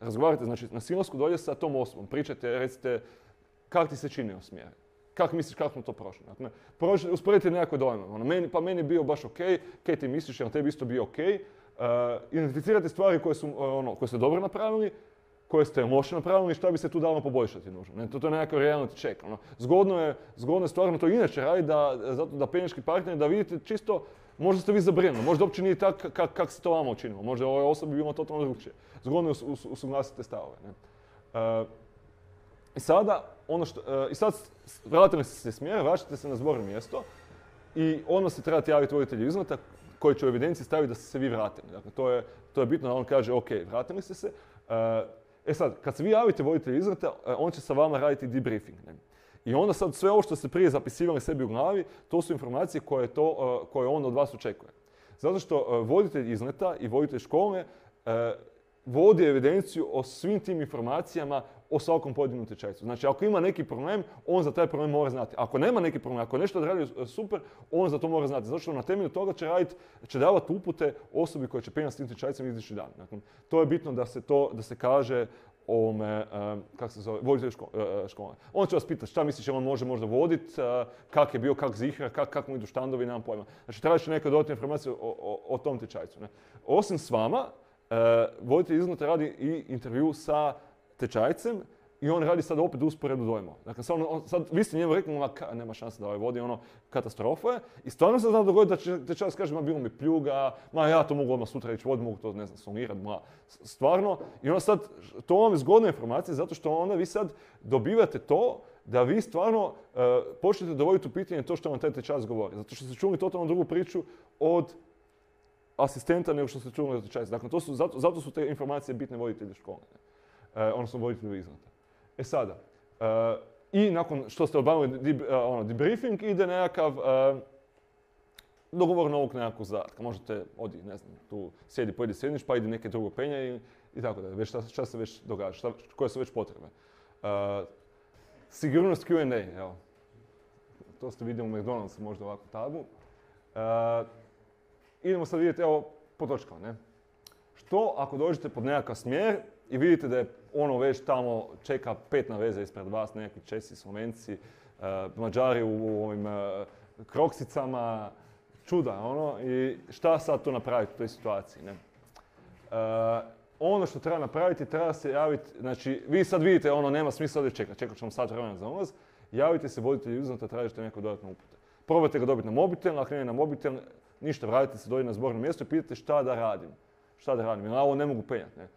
razgovarajte, znači na silnosku dolje sa tom osobom, pričajte, recite kako ti se činio smjer, kako misliš kako smo to prošli. Dakle, usporedite nekakve dojme, meni je bio baš ok, kaj ti misliš, jer tebi isto bio ok, identificirate stvari koje ste dobro napravili, koje ste loše napravili i šta bi se tu dalo poboljšati nužno. To je nekakav reality check. Zgodno je stvarno to inače raditi da penjački partner, da vidite čisto, možda ste vi zabrinuli, možda uopće nije tako kako se to vama učinilo, možda ovoj osobi bilo totalno drugčije. Zgodno je usuglasite stavove. I sad vratili ste se smjer, vraćate se na zborno mjesto i odmah se trebate javiti voditelju izleta koji će u evidenciji staviti da ste se vi vratili. Dakle, to je bitno da on kaže ok, vratili ste se. Sad, kad se vi javite voditelju izleta, on će sa vama raditi debriefing. I onda sad sve ovo što ste prije zapisivali sebi u glavi, to su informacije koje on od vas očekuje. Zato što voditelj izleta i voditelj škole vodi evidenciju o svim tim informacijama o svakom pojedinom tečajcu. Znači, ako ima neki problem, on za taj problem mora znati. Ako nema neki problem, ako nešto odradio super, on za to mora znati. Zato što na temelju toga će davati upute osobi koja će penjati s tim tečajcem idući dan. Dakle, to je bitno da se kaže voditelju škole. On će vas pitati šta misliš, on može možda voditi, kak je bio, kak zihra, kak mu idu štandovi, nemam pojma. Znači, traži neke dodatne informacije o tom tečajcu. Osim s vama, voditelj izleta radi i intervju sa tečajcem i on radi sad opet usporednu dojmova. Dakle, sad vi ste njemu rekli, nema šanse da ovaj vodi, katastrofa je. I stvarno se zna dogoditi da će tečajac kaže, bilo mi pljuga, ja to mogu odmah sutra ići voditi, mogu to, ne znam, solirati, stvarno. I onda sad, to vam je zgodna informacija zato što onda vi sad dobivate to da vi stvarno počnete dovoditi u pitanje to što vam taj tečajac govori. Zato što ste čuli totalno drugu priču od asistenta nego što ste čuli od tečajca. Dakle, zato su te informacije bitne voditelji škole. Odnosno voditelju izleta. Sada, i nakon što ste obavili debriefing, ide nekakav dogovor novog nekakvog zadatka. Možete ne znam, tu pojedi sjedniš, pa ide neke drugo penje i tako da. Već šta se već događa, koje su već potrebe. Sigurnost Q&A, evo. To ste vidjeli u McDonald'su, možda ovako tabu. Idemo sad vidjeti, evo, po točkama, ne? Što ako dođete pod nekakav smjer i vidite da je već tamo čeka 5 na veze ispred vas, nekakvi Česi, Slovenci, Mađari u ovim kroksicama, čuda, i šta sad tu napraviti u toj situaciji, ne? Ono što treba napraviti, treba se javiti, znači, vi sad vidite, nema smisla da čekat ćemo sat vremena za ulaz, javite se voditelju izleta, tražite neko dodatno upute. Probajte ga dobiti na mobitel, ako ne na mobitel, ništa, vratite se dolje na zborno mjesto i pitate šta da radim, jer ovo ne mogu penjati, ne?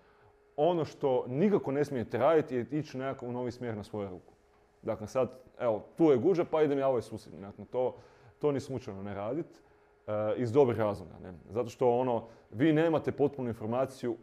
Ono što nikako ne smijete raditi je ići nekako u novi smjer na svoju ruku. Dakle, sad, evo, tu je guža, pa idem ja ovaj susjedni. Dakle, to ni slučajno ne raditi iz dobrih razloga. Ne? Zato što vi nemate potpunu informaciju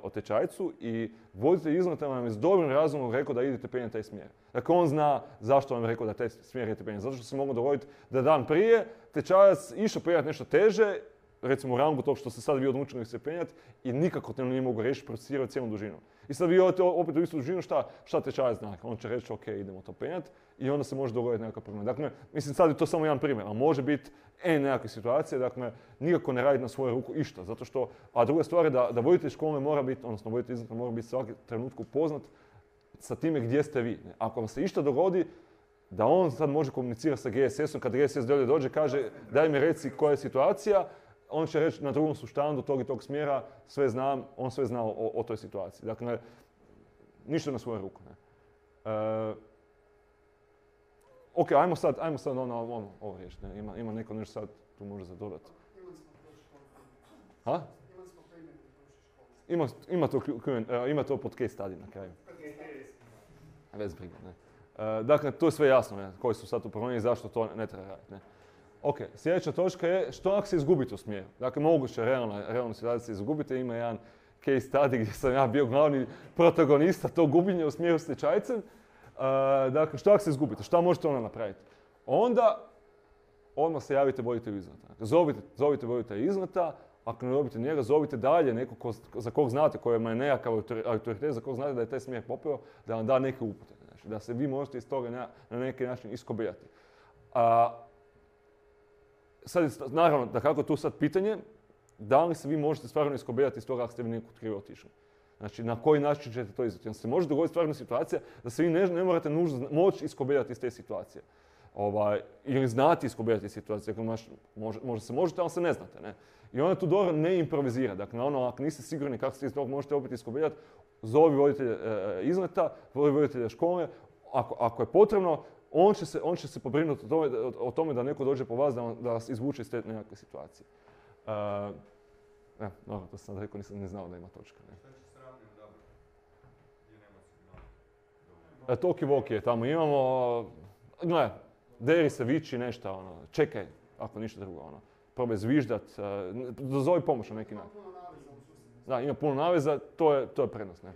o tečajcu i voditelj izleta vam je s dobrim razlogom rekao da idete penjati taj smjer. Dakle, on zna zašto vam je rekao da taj smjer idete penjati. Zato što se moglo dogoditi da dan prije tečajac išao penjati nešto teže, recimo u rangu tog što ste sad vi odlučili se penjati i nikako te nije mogu riješiti, procesirati cijelu dužinu. I sad vi odete opet u istu dužinu, šta tečajac zna? On će reći ok, idemo to penjati i onda se može dogoditi nekakav problem. Dakle, mislim sad je to samo jedan primjer, ali može biti nekakve situacije, dakle, nikako ne raditi na svoju ruku išta, zato što, a druga stvar je da voditelj škole mora biti, odnosno voditelj izleta mora biti svaki trenutku upoznat sa time gdje ste vi. Ako vam se išta dogodi, da on sad može komunicirati sa GSS-om, kad GSS dolje dođe, kaže daj mi reci koja je situacija, on će reći na drugom su štandu tog i tog smjera, sve znam, on sve zna o toj situaciji. Dakle, ništa na svoju ruku. Ne. Ok, ajmo sad ovo riješiti. Ima neko nešto sad tu može zadodati. Ha? Ima to pod case study na kraju. Bez briga, ne. Dakle, to je sve jasno, ne, koji su sad tu problemi i zašto to ne treba raditi. Ne. Ok, sljedeća točka je što ako se izgubite u smjeru. Dakle, moguće realna situacija se izgubite. Ima jedan case study gdje sam ja bio glavni protagonista tog gubljenja u smjeru s tečajcem. Dakle, što ako se izgubite? Šta možete onda napraviti? Odmah se javite voditelju izleta. Dakle, zovite voditelja izleta, ako ne dobite njega, zovite dalje nekog za kog znate, kojima je nekakav autoritet, za kog znate da je taj smjer popeo, da vam da neke upute. Znači, da se vi možete iz toga na neki način iskobijati. Sad je naravno da kako tu sad pitanje, da li se vi možete stvarno iskobijati iz toga ako ste vi nekog krivo otišli. Znači, na koji način ćete to izvesti. Se može dogoditi stvarna situacija da se vi ne morate nužno moći iskobeljati iz te situacije. Ili znati iskobeljati iz situacije. Možda se možete, ali se ne znate. Ne? I onda tu dobro ne improvizira. Dakle, ako niste sigurni kako se iz toga možete opet iskobeljati, zovi voditelja izleta, voditelja škole. Ako je potrebno, on će se pobrinuti o tome da neko dođe po vas, da vas izvuče iz te nekakve situacije. Dobro, to sam rekao, nisam ni znao da ima točka. Ne. Toki-voki je tamo, imamo, gledaj, deri se, viči nešto, čekaj, ako ništa drugo, probaj zviždat, dozovi pomoć na neki način. Da, ima puno naveza, to je prednost, ne.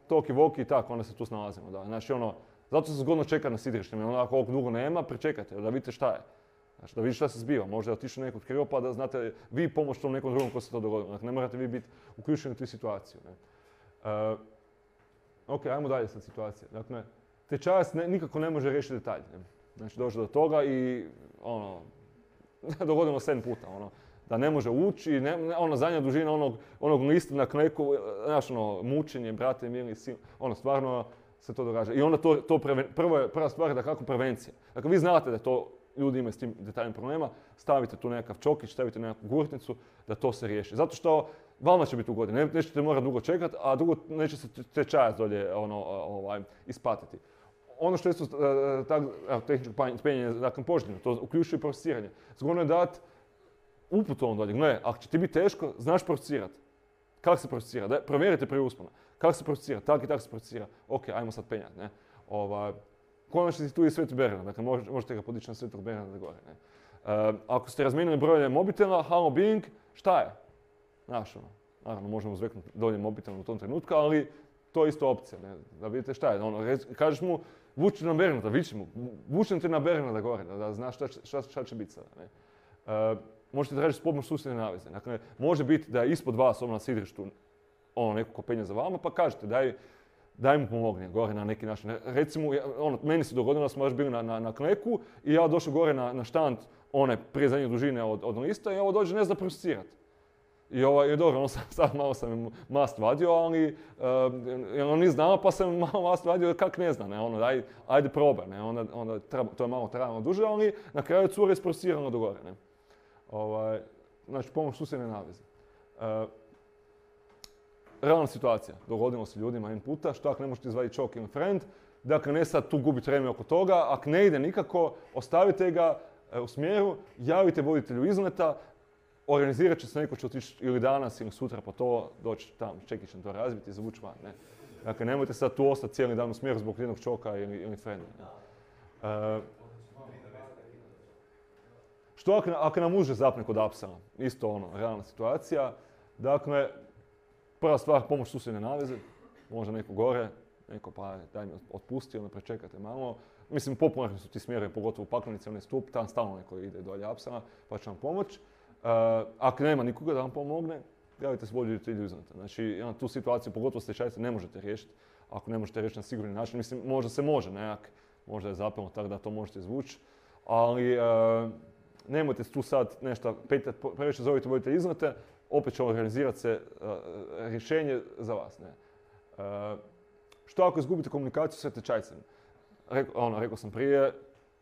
Toki-voki i tako, onda se tu snalazimo, da. Znači, zato se zgodno čeka na sidrištima, ako ovog dugo nema, pričekajte, da vidite šta je. Znači, da vidite šta se zbiva, možda je otišao neko krivo pa da znate vi pomoć tom nekom drugom ko se to dogodilo. Dakle, ne morate vi biti uključeni u tu situaciju. Ne. Ok, ajmo dalje sad situacije. Dakle, tečajac nikako ne može riješiti detalje. Ne. Znači, dođe do toga i dogodilo 7 puta. Da ne može ući, zadnja dužina onog lista na kleku, znaš, mučenje, brate, mili, sin, stvarno se to događa. I onda prva stvar je da kako prevencija. Dakle, vi znate da to ljudi imaju s tim detaljnim problema, stavite tu nekakav čokić, stavite nekakvu gurtnicu, da to se riješi. Zato što vama će biti ugodno, nećete morati dugo čekati, a drugo neće se tečajac dolje ispatiti. Ono što je isto tehničko penjenje, dakle poželjno, to uključuje procesiranje. Zgodno je dati uputu on dolje. Gle, ako će ti biti teško, znaš procesirati. Kako se procesira? Provjerite prije uspona. Kako se procesira? Tak i tak se procesira. Ok, ajmo sad penjati. Konačno si tu i Sveti Bernard, dakle možete ga podići na Svetog Bernarda gore. Ne? Ako ste razmijenili brojeve mobitela, halo Bing, šta je? Znaš, naravno možemo zveknuti dolje mobitel u tom trenutku, ali to je isto opcija, ne? Da vidite šta je. Kažeš mu, vuči na Bernarda, viči mu, vučem te na Bernarda gore, da znaš šta će biti sada. Ne? Možete tražiti pomoć susjedne naveze. Dakle, može biti da je ispod vas na sidrištu neko ko penje za vama, pa kažete daj mu pomogni gore na neki način. Recimo, meni se dogodilo da smo baš bili na kleku i ja došao gore na štand one prije zadnje dužine od lista i ovo dođe ne zna procesirati. I dobro, sad malo sam im mast vadio, ali on nije znao pa sam malo mast vadio kak ne zna. Ne? Ajde probaj, ne? Onda to je malo trajalo duže, ali na kraju cura je isprocesirano do gore. Ne? Znači, pomoć susjedne naveze. Realna situacija, dogodilo se ljudima jedan puta, što ako ne možete izvaditi choke in friend, dakle ne sad tu gubiti vreme oko toga, ako ne ide nikako, ostavite ga u smjeru, javite voditelju izleta, organizirat će se neko će otići ili danas ili sutra po to, doći tamo, čekićem to razbiti i zavući van. Ne? Dakle, nemojte sad tu ostati cijeli dan u smjeru zbog jednog choka ili frenda. Što ako nam uže zapne kod apsala? Isto realna situacija. Dakle, prva stvar, pomoć susjedne naveze, možda neko gore, neko pa daj mi otpusti, onda prečekate malo. Mislim, popularni su ti smjerovi, pogotovo u Paklenici, onaj stup, tam stalno neko ide dolje apsala, pa će vam pomoć. Ako nema nikoga da vam pomogne, javite se voditelju izleta. Znači, tu situaciju, pogotovo stečajce, ne možete riješiti. Ako ne možete riješiti na sigurni način, mislim, možda se može nekak, možda je zapelo tako da to možete izvući, ali nemojte tu sad nešto petljati, previše zovite voditelj izlete, opet će organizirati se rješenje za vas. Ne? Što ako izgubite komunikaciju sa tečajcem? Rekao sam prije,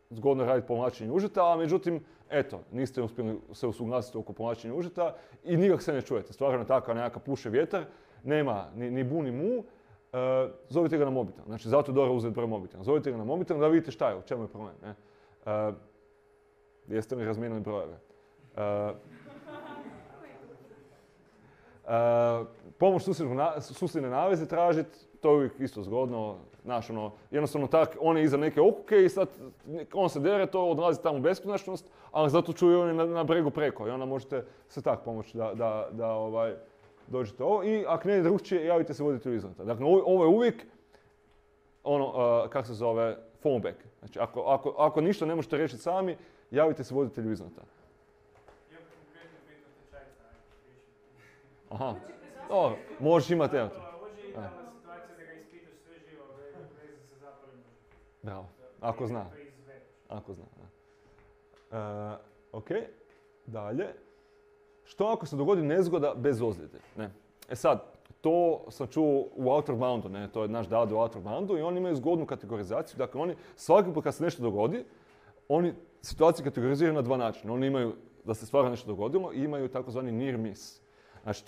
zgodno je raditi povlačenje užeta, a međutim, eto, niste uspjeli se usuglasiti oko povlačenja užeta i nikak se ne čujete. Stvarno taka nekakav puše vjetar, nema ni bu ni mu, zovite ga na mobitel. Znači, zato je dobro uzeti broj mobitela. Zovite ga na mobitel da vidite šta je, u čemu je problem. Ne? Jeste li razmijenili brojeve? Pomoć susjedne naveze tražiti, to je uvijek isto zgodno, znaš, jednostavno tak, on je iza neke okuke i sad on se dere, to odlazi tamo u beskonačnost, ali zato čuju oni na bregu preko i onda možete se tak pomoći da dođete ovo i ako ne je drugčije, javite se voditelju izleta. Dakle, ovo je uvijek kako se zove, fallback. Znači, ako ništa ne možete riješiti sami, javite se voditelju izleta. Aha, dobro, možeš imati evo. Može i tamo situacija da ga ispitaš sve živo veze sa zapalim. Bravo, ako zna. Ako zna. Ok, dalje. što ako se dogodi nezgoda bez ozljede? Ne? E sad, to sam čuo u Outerboundu, ne? To je naš dad u Outerboundu i oni imaju zgodnu kategorizaciju. Dakle, oni svaki put kad se nešto dogodi, oni situaciju kategoriziraju na dva načina. Oni imaju da se stvarno nešto dogodilo i imaju takozvani near miss. Znači,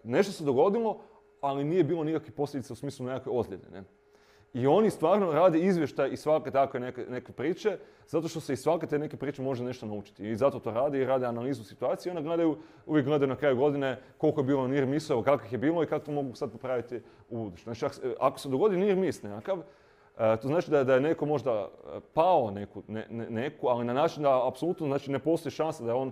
nešto se dogodilo, ali nije bilo nikakvih posljedica u smislu nekakve ozljede. Ne? I oni stvarno rade izvještaj iz svake takve neke priče, zato što se iz svake te neke priče može nešto naučiti. I zato to rade i rade analizu situacije. Onda uvijek gledaju na kraju godine koliko je bilo near missova, kakvih je bilo i kako to mogu sad popraviti u buduće. Znači, ako se dogodi near miss nekakav, to znači da je neko možda pao neku, ali na način da apsolutno znači, ne postoji šansa da je on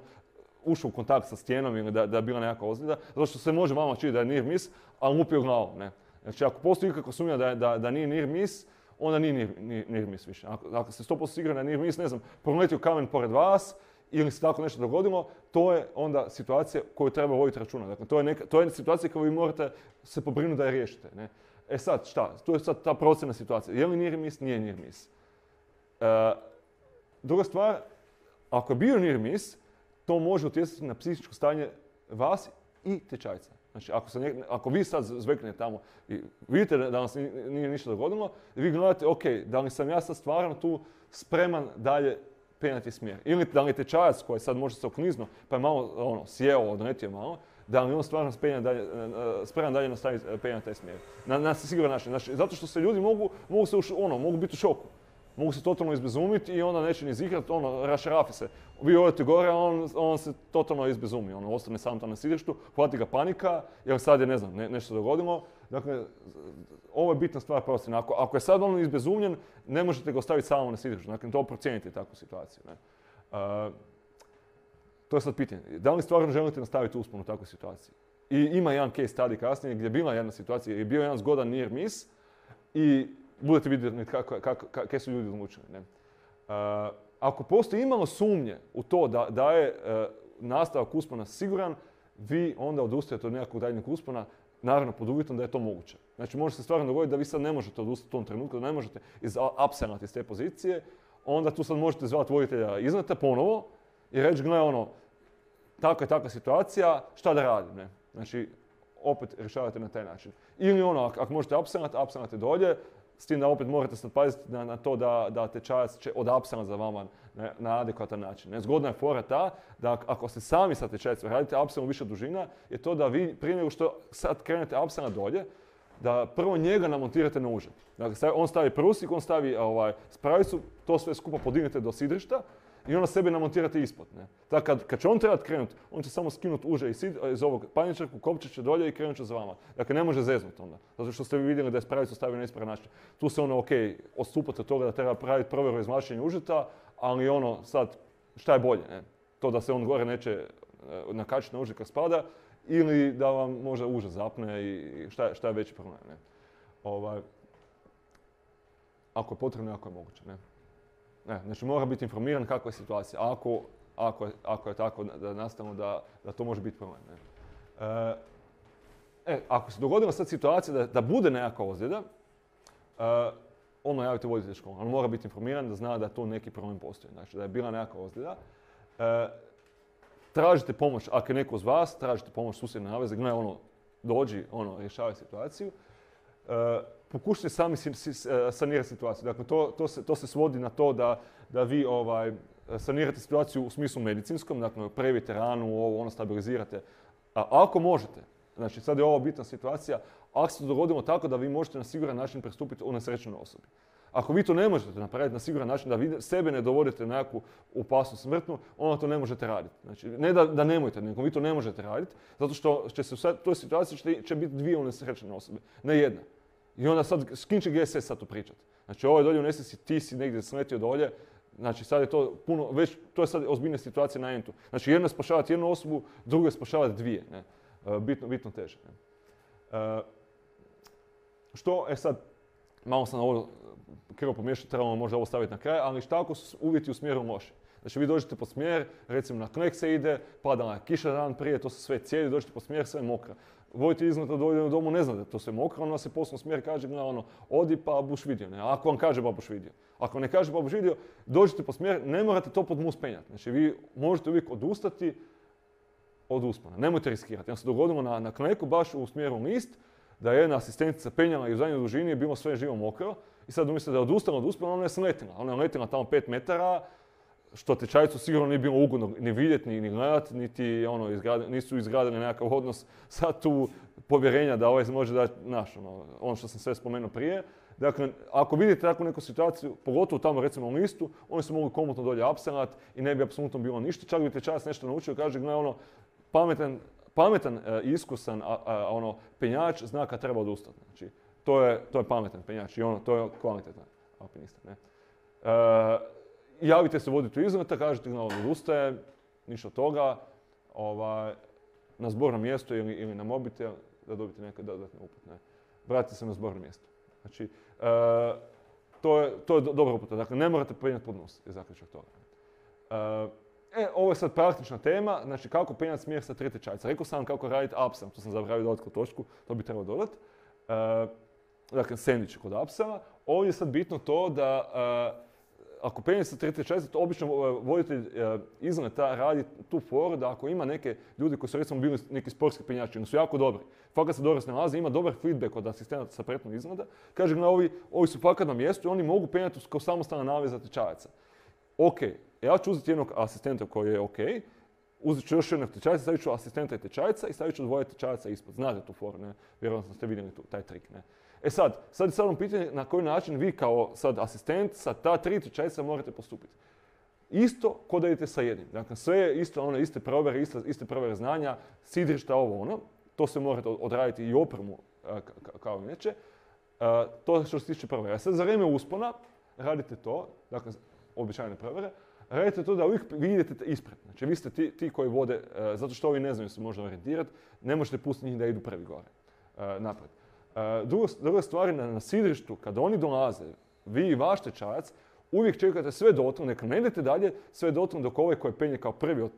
ušao u kontakt sa stijenom ili da je bila nekakva ozljeda, zato što se može vama čini da je near miss, ali lupio glavom. Ne? Znači, ako postoji ikakva sumnja da nije near miss, onda nije near miss više. Ako ste 100% sigurni da je near miss, ne znam, proletio kamen pored vas ili se tako nešto dogodilo, to je onda situacija koju treba voditi računa. Dakle, to je situacija koju vi morate se pobrinuti da je riješite. Ne? E sad, šta? To je sad ta procjena situacija. Je li near miss? Nije near miss. Druga stvar, ako je bio near miss, to može utjecati na psihičko stanje vas i tečajca. Znači, ako vi sad zveknete tamo i vidite da vam se nije ništa dogodilo, vi gledate, ok, da li sam ja sad stvarno tu spreman dalje penjati smjer. Ili da li je tečajac koji sad može se okliznuo, pa je malo sjeo, odletio malo, da li on stvarno spreman dalje nastaviti penjati taj smjer. Na siguran način. Znači, zato što se ljudi mogu biti u šoku. Mogu se totalno izbezumiti i onda neće ni zihrati, rašarafi se. Vi odete gore, a on se totalno izbezumi. Ostane sam tam na sidrištu, hvati ga panika, jer sad je, ne znam, nešto dogodilo. Dakle, ovo je bitna stvar procjena. Ako je sad on izbezumljen, ne možete ga ostaviti samo na sidrištu. Dakle, to procijenite takvu situaciju. Ne? To je sad pitanje. Da li stvarno želite nastaviti uspon u takvoj situaciji? I ima jedan case study kasnije gdje je bila jedna situacija, je bio jedan zgodan near miss i budete vidjeti kako su ljudi odlučili. Ne? Ako postoji imalo sumnje u to da je nastavak uspona siguran, vi onda odustajete od nekakvog daljnjeg uspona, naravno pod uvjetom da je to moguće. Znači može se stvarno dogoditi da vi sad ne možete odustati u tom trenutku, da ne možete apsenati iz te pozicije, onda tu sad možete zvati voditelja iznad ponovo i reći, gle takva situacija, šta da radim? Ne? Znači, opet rješavate na taj način. Ili ako možete apsenate dolje, s tim da opet morate sad paziti na to da tečajac će odapsenati za vama na adekvatan način. Ne? Zgodna je fora ta da ako ste sami sa tečajacom radite apsenu više dužina, je to da vi prije nego što sad krenete apsena dolje, da prvo njega namontirate na uže. Dakle, on stavi prusik, on stavi spravicu, to sve skupa podignete do sidrišta i onda sebe namontirate ispod. Ne? Tako kad će on trebati krenuti, on će samo skinuti uže iz ovog panjčarku, kopčat će dolje i krenut će za vama. Dakle, ne može zeznuti onda. Zato što ste vi vidjeli da je spravicu stavio na ispravan način. Tu se odstupate od toga da treba praviti provjeru izvlačenja užeta, ali sad, šta je bolje? Ne? To da se on gore neće nakačiti na uže kad spada, ili da vam možda uže zapne i šta je veći problem. Ne? Ako je potrebno, ako je moguće. Ne? Znači mora biti informiran kakva je situacija. Ako je tako da nastavimo da to može biti problem. Ne? Ako se dogodila sad situacija da bude nekakva ozljeda, javite voditelj škole. On mora biti informiran da zna da to neki problem postoji. Znači da je bila nekakva ozljeda. Tražite pomoć, ako je neko uz vas, tražite pomoć susjedne naveze, dođi, rješavaj situaciju. Pokušajte sami sanirati situaciju. Dakle, to se svodi na to da vi sanirate situaciju u smislu medicinskom, dakle, previjete ranu, stabilizirate. Ako možete, znači sad je ovo bitna situacija, ako se to dogodilo tako da vi možete na siguran način pristupiti unesrećenoj osobi. Ako vi to ne možete napraviti na siguran način, da vi sebe ne dovodite na nekakvu opasnost smrtnu, onda to ne možete raditi. Znači, ne da nemojte, nego vi to ne možete raditi, zato što će se u toj situaciji će biti dvije unesrećene osobe, ne jedna. I onda sad, s kim će GSS sad tu pričati? Znači, ovo je dolje u nesreći, ti si negdje sletio dolje, znači sad je to puno, već to je sad ozbiljna situacija na entu. Znači, jedno je spašavati jednu osobu, drugo je spašavati dvije, ne? Bitno teže. Ne? Sad, malo sam ovo krivo pomiješati, trebamo možda ovo staviti na kraj, ali šta ako su uvjeti u smjeru loši? Znači vi dođete po smjer, recimo na knjeg se ide, pada na kiša dan prije, to se sve cijeli, dođete po smjer, sve je mokro. Voditelj iznad dođe u domu, ne zna da je to sve mokro, on vas je poslao smjer, kaže, odi pa buš vidio. Ne? Ako vam kaže pa buš vidio. Ako ne kaže pa buš vidio, dođete po smjer, ne morate to pod mus penjati. Znači vi možete uvijek odustati od uspona. Nemojte riskirati. Nam se dogodilo na Kneku, baš u smjeru list, da je jedna asistentica penjala i u zadnjoj dužini je bilo sve živo mokro i sad umjesto da je odustala od uspona, ona je sletila. Ona je letila tamo 5 metara, što tečajcu sigurno nije bilo ugodno ni vidjeti, ni gledati, niti nisu izgradili nekakav odnos sad tu povjerenja da ovaj može dati ono što sam sve spomenuo prije. Dakle, ako vidite takvu neku situaciju, pogotovo tamo recimo u listu, oni su mogli komotno dolje apselat i ne bi apsolutno bilo ništa. Čak bi tečajac nešto naučio i kaže, gle, pametan, iskusan penjač zna kad treba odustati. Znači, to je pametan penjač i to je kvalitetan alpinista. Ne? Javite se voditi u izleta, kažete da odustaje, ništa od toga, na zborno mjesto ili na mobitel da dobite neke dodatne upute. Vratite se na zborno mjesto. Znači, to je dobra uputa. Dakle, ne morate penjati pod nos, je zaključak toga. Ovo je sad praktična tema, znači kako penjati smjer sa 3 tečajca. Rekao sam kako raditi apsam, to sam zaboravio dodati kod točku, to bi trebalo dodati. Dakle, sendvič kod apsama. Ovdje je sad bitno to da ako penjate sa 3 tečajca, to obično voditelj izleta radi tu foru da ako ima neke ljudi koji su recimo bili neki sportski penjači, oni su jako dobri, fakat se dobro snalaze, ima dobar feedback od asistenata sa pretnog izgleda, kaže ovi su fakat na mjestu i oni mogu penjati kao samostalna naveza tečajaca. Ok, ja ću uzeti jednog asistenta koji je ok, uzet ću još jednog tečajca, stavit ću asistenta i tečajca i stavit ću 2 tečajaca ispod. Znate tu foru, ne? Vjerojatno ste vidjeli taj trik, ne? Sad je samo pitanje na koji način vi kao sad asistent sa ta 3 tečajca morate postupiti. Isto ko da idete sa jednim. Dakle, sve je isto, iste provjere znanja, sidrišta, to se morate odraditi i opremu kao inače. To što se tiče provjere. Sad za vrijeme uspona radite to, dakle, običajne provjere, radite to da uvijek vi idete ispred. Znači, vi ste ti koji vode, zato što ovi ne znaju se možda orijentirati, ne možete pustiti njih da idu prvi gore, napred. Druga stvar je na sidrištu, kada oni dolaze, vi i vaš tečajac, uvijek čekate sve dotle, neka ne idete dalje, sve dotle dok ovaj koji penje kao prvi od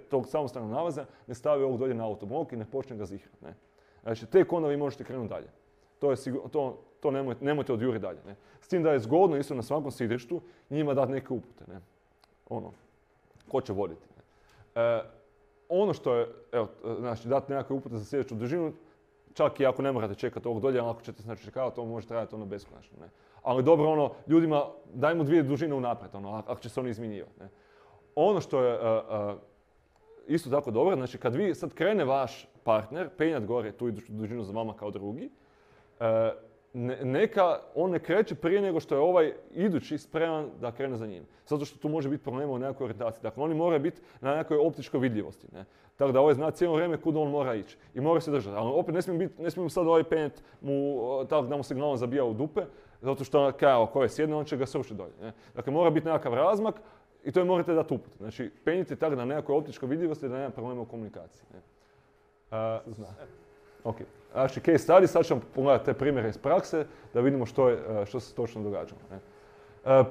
tog samostalnog nalaza ne stavi ovog dolje na autoblok i ne počne ga zihrati. Znači, tek onda vi možete krenuti dalje. To nemojte odjuriti dalje. Ne? S tim da je zgodno isto na svakom sidrištu njima dati neke upute. Ne? Ko će voditi. Ne? Ono što je, znači, dati nekakve upute za sljedeću dužinu, čak i ako ne morate čekati ovog dolje, ali ako ćete znači čekati, to može trajati beskonačno. Ne? Ali dobro, ljudima dajmo 2 dužine unaprijed, ako će se oni izmjenjivati. Ne? Ono što je isto tako dobro, znači kad vi sad krene vaš partner penjat gore tu iduću dužinu za vama kao drugi, neka on ne kreće prije nego što je ovaj idući spreman da krene za njim. Zato što tu može biti problema u nekakvoj orijentaciji. Dakle, oni moraju biti na nekoj optičkoj vidljivosti. Ne? Tako da ovaj zna cijelo vrijeme kuda on mora ići. I mora se držati. Ali opet ne smijemo sad ovaj penjat tako da mu signalom zabija u dupe, zato što ako je sjedne, on će ga srušiti dolje. Ne? Dakle, mora biti nekakav razmak i to je morate dati uput. Znači, penjite tako na nekakvoj optičkoj vidljivosti da nema problema u komunikaciji. Ne? Ok. Znači, case study, sad ćemo pogledati te primjere iz prakse da vidimo što se točno događalo. Ne?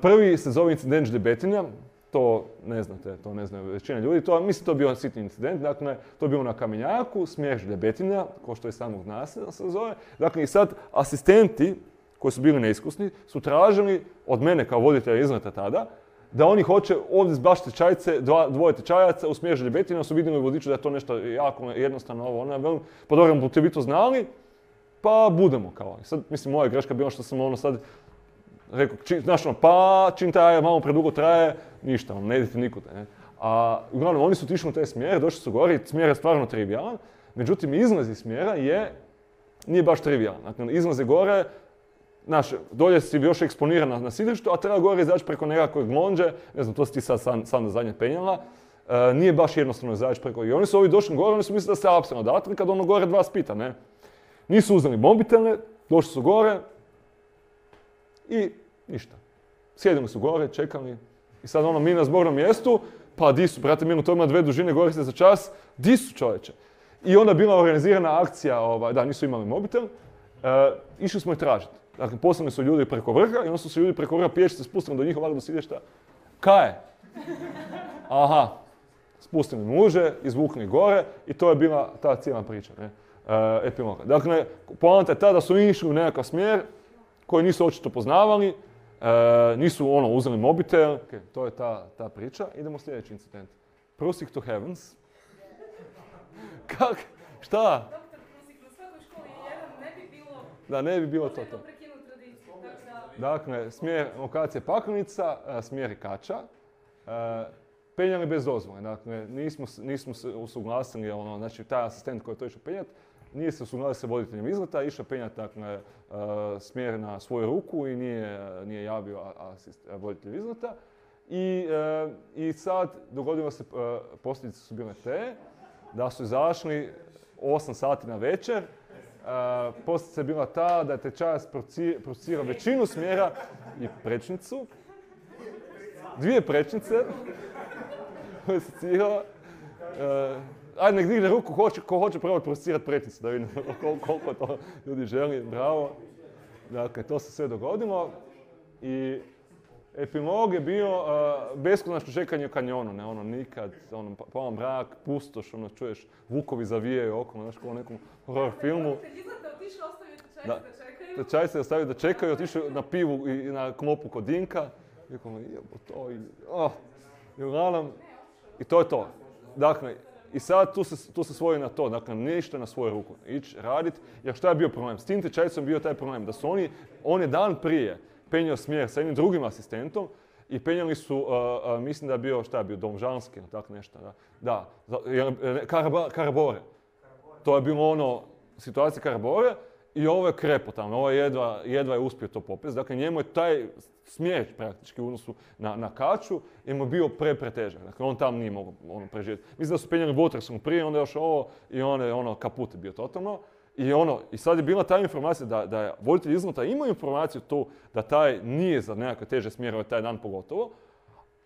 Prvi se zove incident žljebetinja, to ne znate, to ne znaju većina ljudi, mislim to je bio sitni incident, dakle to je bilo na kamenjaku, smjer žljebetinja, kao što je samog naselja se zove. Dakle i sad asistenti koji su bili neiskusni su tražili od mene kao voditelja izleta tada da oni hoće ovdje zbaš tečajce, 2 tečajaca u smjer žljebetinja, su vidjeli u vodiču da je to nešto jako jednostavno, pa dobro, budete vi to znali, pa budemo kao. I sad, mislim, moja greška bila što sam sad rekao, čim traje, malo predugo traje, ništa, ne idete nikuda. Ne? A uglavnom, oni su otišli u taj smjer, došli su gore i smjer je stvarno trivijalan, međutim, izlaz iz smjera nije baš trivijalan. Dakle, izlaz je gore, dolje si još eksponiran na sidrištu, a treba gore izaći preko nekakve glonđe, ne znam, to si ti sad na zadnje penjala, nije baš jednostavno izaći preko. I oni su ovi došli gore, oni su mislili da se apsolutno odatle, kad ono gore dva spita, ne. Nisu uzeli mobitele, došli su gore i ništa. Sjedili su gore, čekali i sad mi na zbornom mjestu, pa di su, brate milo, to ima 2 dužine, gore ste za čas, di su čovječe? I onda bila organizirana akcija, da, nisu imali mobitel, išli smo ih tražiti. Dakle, poslani su ljudi preko vrha i onda su se ljudi preko vrha pješice spustili do njih ovako do sidješta. Kaj je? Aha, spustili muže, izvukli gore i to je bila ta cijela priča, ne? Epiloga. Dakle, poanta je ta da su išli u nekakav smjer koji nisu očito poznavali, nisu uzeli mobitel. Okay, to je ta priča. Idemo sljedeći incident. Proceed to heavens. Kak? Šta? Doktor Krusik, na svakoj školi jedan ne bi bilo... Da, ne bi bilo to. Možemo prekinuti tradiciju, tako da... Dakle, smjer lokacije Paklenica, smjer Kača, penjali bez dozvole. Dakle, nismo se usuglasili, znači taj asistent koji je to išao penjati, nije se usuglasio sa voditeljem izleta, išao penjati dakle, smjer na svoju ruku i nije javio voditelj izleta. I sad dogodilo se, posljedice su bile te, da su izašli 8 sati na večer. Posljedica je bila ta da je tečajac procirao većinu smjera i prečnicu. 2 prečnice koje se cirala. Ajde, nek digne ruku ko hoće probati procirati prečnicu, da vidimo koliko to ljudi želi. Bravo. Dakle, to se sve dogodilo. I epilog je bio beskonačno čekanje u kanjonu, ne, nikad, polan mrak, pustoš, čuješ, vukovi zavijaju okolo, znaš, kao u nekom horror filmu. Tečaj se ostavio da čekaju, otišao na pivu i na klopu kod Dinka. I to je to. Dakle, i sad tu se svoji na to, dakle, ništa na svoju ruku, ići radit, jer šta je bio problem? S tim tečajcom bio taj problem, da su on je dan prije penjao smjer sa jednim drugim asistentom i penjali su, mislim da je bio, šta je bio, Domžanski ili tako nešto, da, Karabore. To je bilo situacija Karabore i ovo je krepo tamo, ovo jedva je uspio to popest. Dakle, njemu je taj smjer praktički u odnosu na Kaču i mu je bio pretežak. Dakle, on tam nije mogao preživjeti. Mislim da su penjali Watersom prije, onda još ovo i on kaput je bio totalno. I sad je bila ta informacija da voditelj izleta imao informaciju tu da taj nije za nekakve teže smjerove taj dan pogotovo,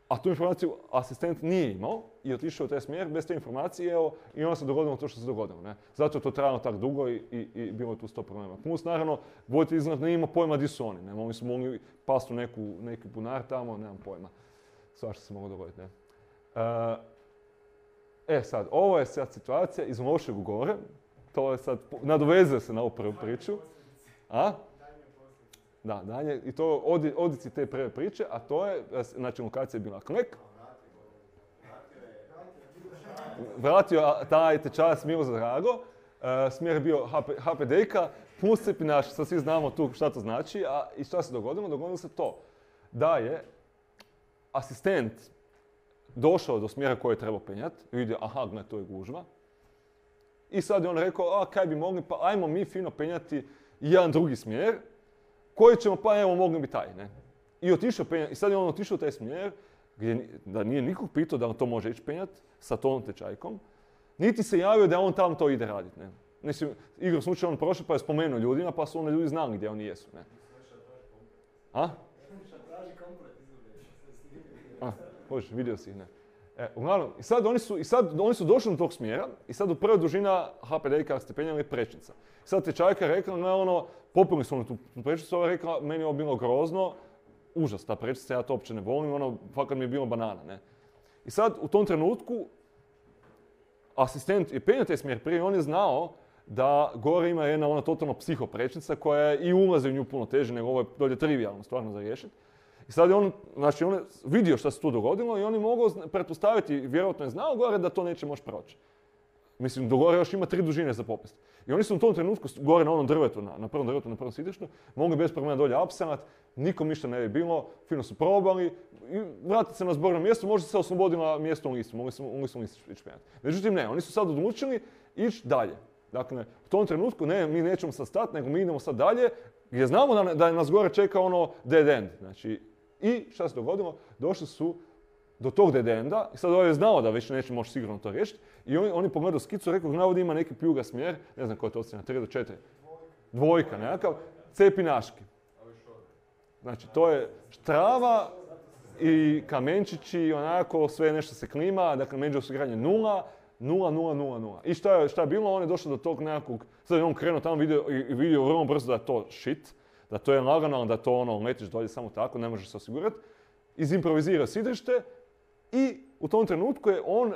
a tu informaciju asistent nije imao i otišao u taj smjer bez te informacije i onda se dogodilo to što se dogodilo. Ne? Zato je to trajalo tako dugo i bilo je tu 100 problema. Plus naravno, voditelj izleta nije imao pojma di su oni. Ne? Oni su mogli pasti u neki bunar tamo, nemam pojma. Svašta se moglo dogoditi. Ne? Sad, ovo je sad situacija iz lošeg u gore. To je sad, nadovezuje se na ovu prvu priču. A? Da, dalje. I to odici te prve priče, a to je, znači lokacija je bila Klek. Vratio taj tečajac Milo za Drago. Smjer je bio HPD-ka plus cepinaš, sad svi znamo tu šta to znači. I šta se dogodilo? Dogodilo se to da je asistent došao do smjera koji je trebao penjati i vidio, aha, gledaj, to je gužva. I sad je on rekao, kaj bi mogli, pa ajmo mi fino penjati jedan drugi smjer, koji ćemo, pa evo, mogli bi taj, ne. I otišao penjati, i sad je on otišao u taj smjer, gdje da nije nikog pitao da on to može ići penjati sa tom tečajkom, niti se javio da on tam to ide raditi, ne. Mislim, igrom slučaja on prošao pa je spomenuo ljudima, pa su onda ljudi znali gdje oni jesu, ne. A? Bože, vidio si ih, ne. Uglavnom, i sad oni su došli do tog smjera i sad u prva dužina HPD-ka ste penjali prečnica. I sad tečajka je rekla, popili su oni tu prečnicu, ova je rekla, meni je ovo bilo grozno, užas ta prečica, ja to uopće ne volim, fakat mi je bilo banana, ne. I sad u tom trenutku asistent je penjao taj smjer prije i on je znao da gore ima jedna totalno psiho prečnica koja i ulazi u nju puno teže nego ovo je dolje trivijalno stvarno za riješiti. I sad je on je vidio šta se tu dogodilo i on je mogao pretpostaviti, vjerojatno je znao gore da to neće moći proći. Mislim, do gore još ima 3 dužine za popest. I oni su u tom trenutku, gore na onom drvetu, na prvom drvetu, na prvom sidištu, mogli bez problema dolje apsanat, nikom ništa ne bi bilo, fino su probali i vratiti se na zborno mjesto, možda se oslobodila mjesto u listu, mogli su listu ići penjati. Međutim ne, oni su sad odlučili ići dalje. Dakle, u tom trenutku ne, mi nećemo sad stati, nego mi idemo sad dalje, gdje znamo da nas gore čeka dead end. Znači, i šta se dogodilo? Došli su do tog dead enda i sad ovaj je znao da već neće moći sigurno to riješiti i oni pogledaju skicu i rekao navodi ima neki pljuga smjer, ne znam koja je to ocjena, 3 do 4, dvojka nekakav, cepinaški. Znači to je štrava i kamenčići, onako sve nešto se klima, dakle među osiguranje 0, 0, 0, 0, 0. I šta je bilo? On je došao do tog nekakvog, sad je on krenuo tamo i vidio vrlo brzo da je to shit, da to je lagano, da to letiš dolje samo tako, ne možeš se osigurati. Izimprovizirao sidrište i u tom trenutku je on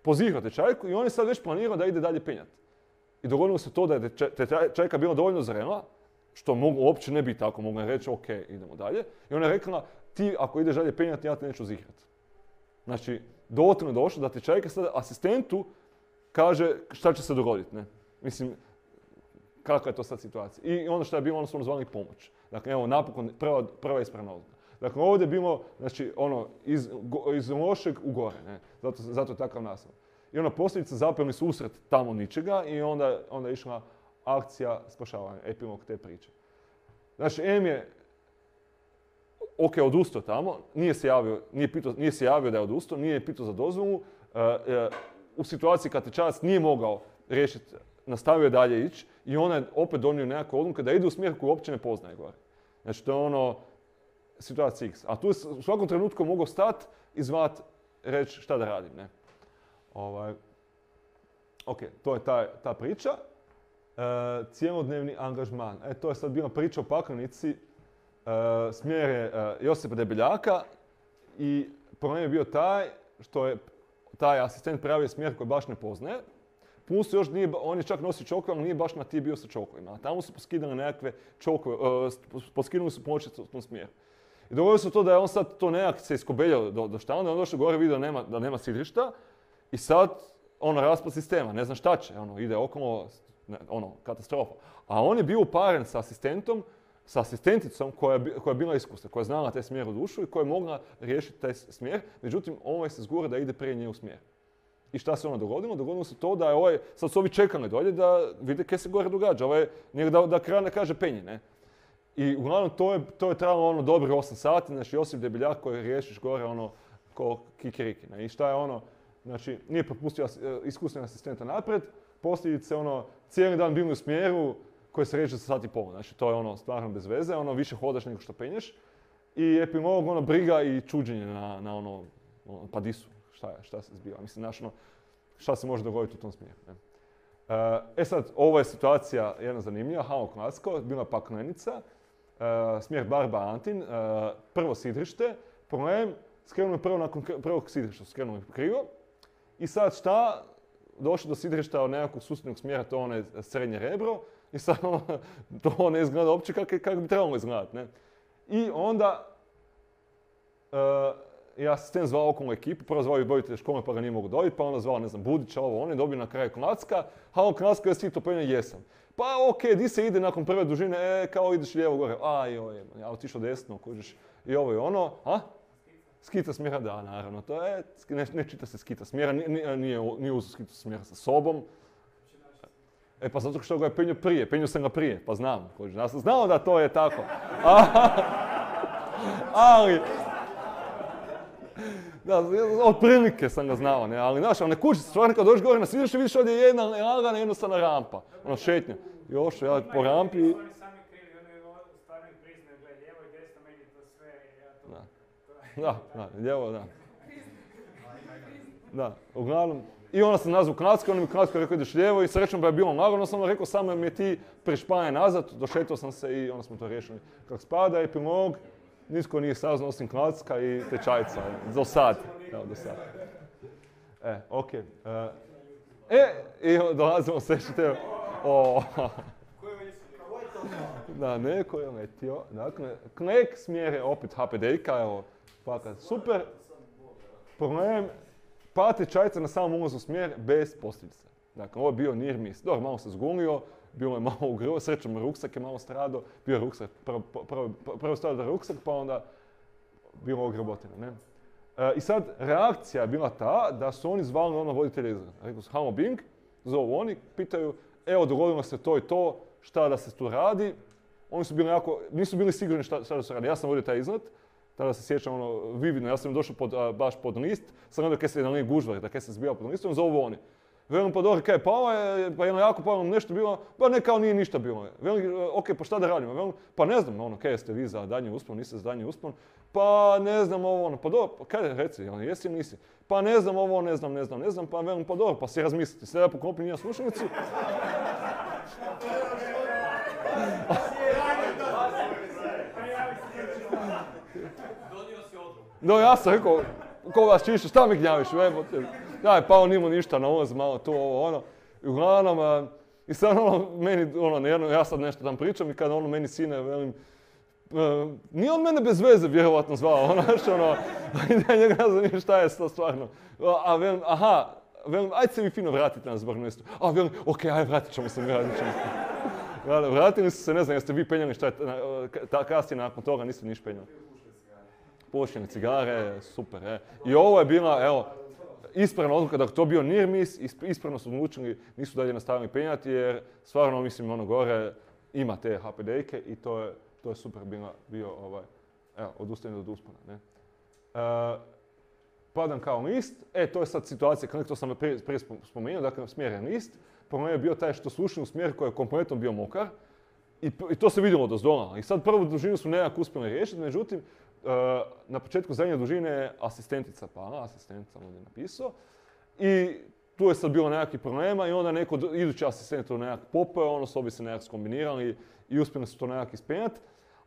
pozigrao tečajku i on je sad već planirao da ide dalje penjati. I dogodilo se to da je tečajka bila dovoljno zrela, što uopće ne bi tako, mogu reći ok, idemo dalje. I ona je rekla, ti ako ideš dalje penjati, ja te neću zigrati. Znači, dovoljno je došlo da tečajka sad asistentu kaže šta će se dogoditi, ne? Mislim, kakva je to sad situacija. I ono što je bilo, ono su zvali pomoć. Dakle, evo, napokon, prva ispravna odluka. Dakle, ovdje je bilo, znači, ono, iz lošeg u gore, ne? Zato je takav naslov. I ona posljedica zapelni susret tamo ničega i onda je išla akcija spašavanja, epilog te priče. Znači, M je, odustao tamo, nije se javio da je odustao, nije pitao za dozvolu. U situaciji kad Tečajac nije mogao riješiti, nastavio je dalje ići i ona je opet donio nekakvu odluku da ide u smjer koju uopće ne poznaje gore. Znači, to je ono, situacija X. A tu je u svakom trenutku mogao stati i zvat, reći šta da radim, ne. Ok, to je ta priča. Cjelodnevni angažman. To je sad bila priča o Paklenici. Smjer je Josipa Debeljaka i problem je bio taj što je taj asistent prijavio smjer koji baš ne poznaje. Plus još on je čak nosio čokove, ali nije baš na ti bio sa čokovima. A tamo su poskidali nekakve čokove, poskidali su pločicu u tom smjeru. I dogodilo se to da je on sad to nekak se iskobeljao do štanda, on došao gore vidio da nema sidrišta i sad raspad sistema, ne zna šta će, ide okolo, katastrofa. A on je bio uparen sa asistenticom koja je bila iskusna, koja je znala taj smjer u dušu i koja je mogla riješiti taj smjer, međutim ovaj se zgura da ide prije nje u smjer. I šta se dogodilo? Dogodilo se to da je sad su ovi čekali dolje da vide kaj se gore događa, da kraj kaže penje, ne? I uglavnom to je trajalo dobro 8 sati, znači Josip Debeljak koji riješiš gore ko kikiriki, ne? I šta je znači nije propustio iskusnog asistenta naprijed, posljedice cijeli dan bili u smjeru koji se reče za sat i pol, znači to je stvarno bez veze, više hodaš nego što penješ. I epilog, briga i čuđenje na pa di su, šta se zbiva, mislim, znaš, šta se može dogoditi u tom smjeru, ne? Sad, ovo je situacija jedna zanimljiva, Halo Klasko, bila Paklenica, smjer Barba Antin, prvo sidrište, problem, skrenuli prvo nakon prvog sidrišta, skrenuli krivo. I sad šta? Došlo do sidrišta od nekakvog susjednog smjera, to je srednje rebro. I sad to ne izgleda uopće kako bi trebalo izgledati, ne? I onda je asistent zvao okolnu ekipu, prvo zvao i voditelja škole pa ga nije mogu dobiti, pa onda zvao, ne znam, Budića, on je dobio na kraju Klacka. Halo Klacka, jesi to penja? Jesam. Pa okej, di se ide nakon prve dužine, kao ideš lijevo gore. Ja otišao desno, kužiš. I ovo je ono, skita smjera, da, naravno, to je, ne čita se skita smjera, nije uzeo skitu smjera sa sobom. Pa zato što ga je penio sam ga prije, pa znam, kužiš. Ja sam znao da to je tako. Ali, da, otprilike sam ga znao, ne, ali znaš, ne kući se, stvarno kad dođeš gore na sidrište, vidiš ovdje je jedna lagana, jednostavna rampa, šetnja. Još, ja po rampi... Oni sami krivi, oni stvarno priznaju, gledaj, lijevo i desno, meni to sve, ja to... Da, lijevo, da. Da, uglavnom, i onda sam nazvao Klacka, on mi Klacka rekao ideš lijevo i srećom da je bilo lagano, sam rekao samo mi je ti prešpanje nazad, došetao sam se i onda smo to riješili. Kako spada, epilog, nitko nije saznao osim Klacka i Tečajca, do sad. Evo, do sad. Okej. I dolazimo se što da, neko je letio. Dakle, Knek smjere opet HPD-ka, evo, fakat super. Problem, pa Tečajca na samom ulazu u smjer bez posljedica. Dakle, ovo je bio near miss. Dobro, malo se zgunio, bilo je malo ugrlo, srećom ruksak je malo stradao, bio je ruksak, prvo stradao ruksak, pa onda bilo ogrebotino, ne? I sad, reakcija je bila ta da su oni zvali voditelja izgleda. Rekli su, halo Bing, zovu oni, pitaju, evo, dogodilo se to i to, šta da se tu radi. Oni su bili nisu bili sigurni šta da se radi. Ja sam vodio taj izlet, tada se sjećam vividno, ja sam došao baš pod list, sam gledao kaj se na liniji gužva, da kaj se zbija pod listom, zovu oni. Velim pa dobro, kaj je pala je, pa jedno jako palo nešto bilo, pa ne kao nije ništa bilo. Velim, ok, pa šta da radimo? Velim, pa ne znam, kaj jeste vi za danji uspon, niste za danji uspon, pa ne znam pa dobro, kaj reci, jesi ili nisi? Pa ne znam ne znam, pa velim, pa dobro, pa si razmisliti. Sve ja poklopim njena slušalicu. No ja sam rekao, ko vas čiše, šta mi gnjaviš, daj, pa on imao ništa na ulaz, malo to, ovo, I uglavnom, i sad meni, ja sad nešto tam pričam i kada meni sine, velim, nije on mene bez veze vjerovatno zvao, znaš, i da njega ne znam šta je to stvarno. A velim, aha, velim, ajde se vi fino vratite na zbog mjestu. A velim, ok, ajde vratit ćemo se. Vratili su se, ne znam, jeste vi penjali šta je, kasnije nakon toga niste niš penjali. Pušene cigare, super, I ovo je bila, evo, ispravna odluka, dakle to bio near miss, ispravno su odlučili, nisu dalje nastavili penjati jer stvarno, mislim, ono gore ima te HPD-ke i to je super bio odustajanje od uspona, ne. Padam kao list, to je sad situacija, to sam prije spomenuo, dakle smjeren list, problem je bio taj što su ušli u smjer koji je kompletno bio mokar i to se vidjelo dozdola. I sad prvu dužinu su nekako uspjeli riješiti, međutim, na početku zadnje dužine je asistentica pala, asistent sam ovdje napisao, i tu je sad bilo nekakvih problema i onda neko idući asistent to nekak popeo, ono su obi se nekak skombinirali i uspjeli su to nekak ispenjati.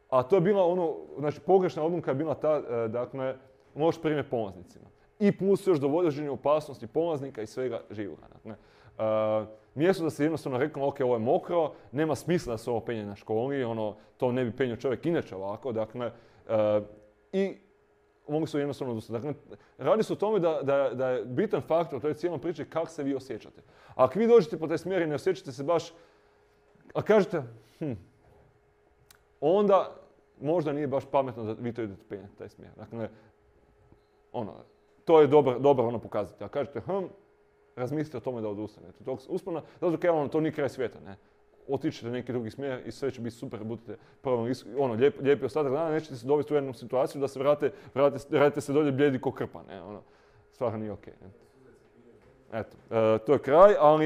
A to je bila znači pogrešna odluka je bila ta, dakle, loš primjer polaznicima. I plus još dovođenje opasnosti polaznika i svega živoga. Dakle, mjesto da se jednostavno reklo, ok, ovo je mokro, nema smisla da se ovo penje na školi, to ne bi penio čovjek inače ovako, dakle, i mogli su jednostavno odustati. Dakle, radi se o tome da je bitan faktor u toj cijelom priči kako se vi osjećate. Ako vi dođete po taj smjer i ne osjećate se baš, a kažete, onda možda nije baš pametno da vi to idete penjati taj smjer. Dakle, to je dobar pokazatelj. A kažete, razmislite o tome da odustanete tog uspona, zato kaj to nije kraj svijeta, ne. Otičete neki drugi smjer i sve će biti super, budete lijepi ostatak dana, nećete se dovesti u jednu situaciju da se vratite se dolje bljedi ko krpa, ne, stvarno nije okej. Eto, to je kraj, ali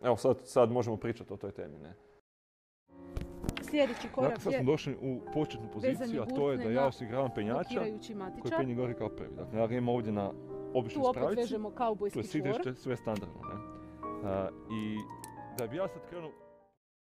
evo sad možemo pričati o toj temi, ne. Sljedeći korak je sad smo došli u početnu poziciju, a to je da ja osiguravam penjača koji penje gori kao prvi. Dakle, ja ga imam ovdje na običnoj spravici. Tu opet vežemo kaubojski čvor. To je sve standardno, ne. I da bi ja sad krenuo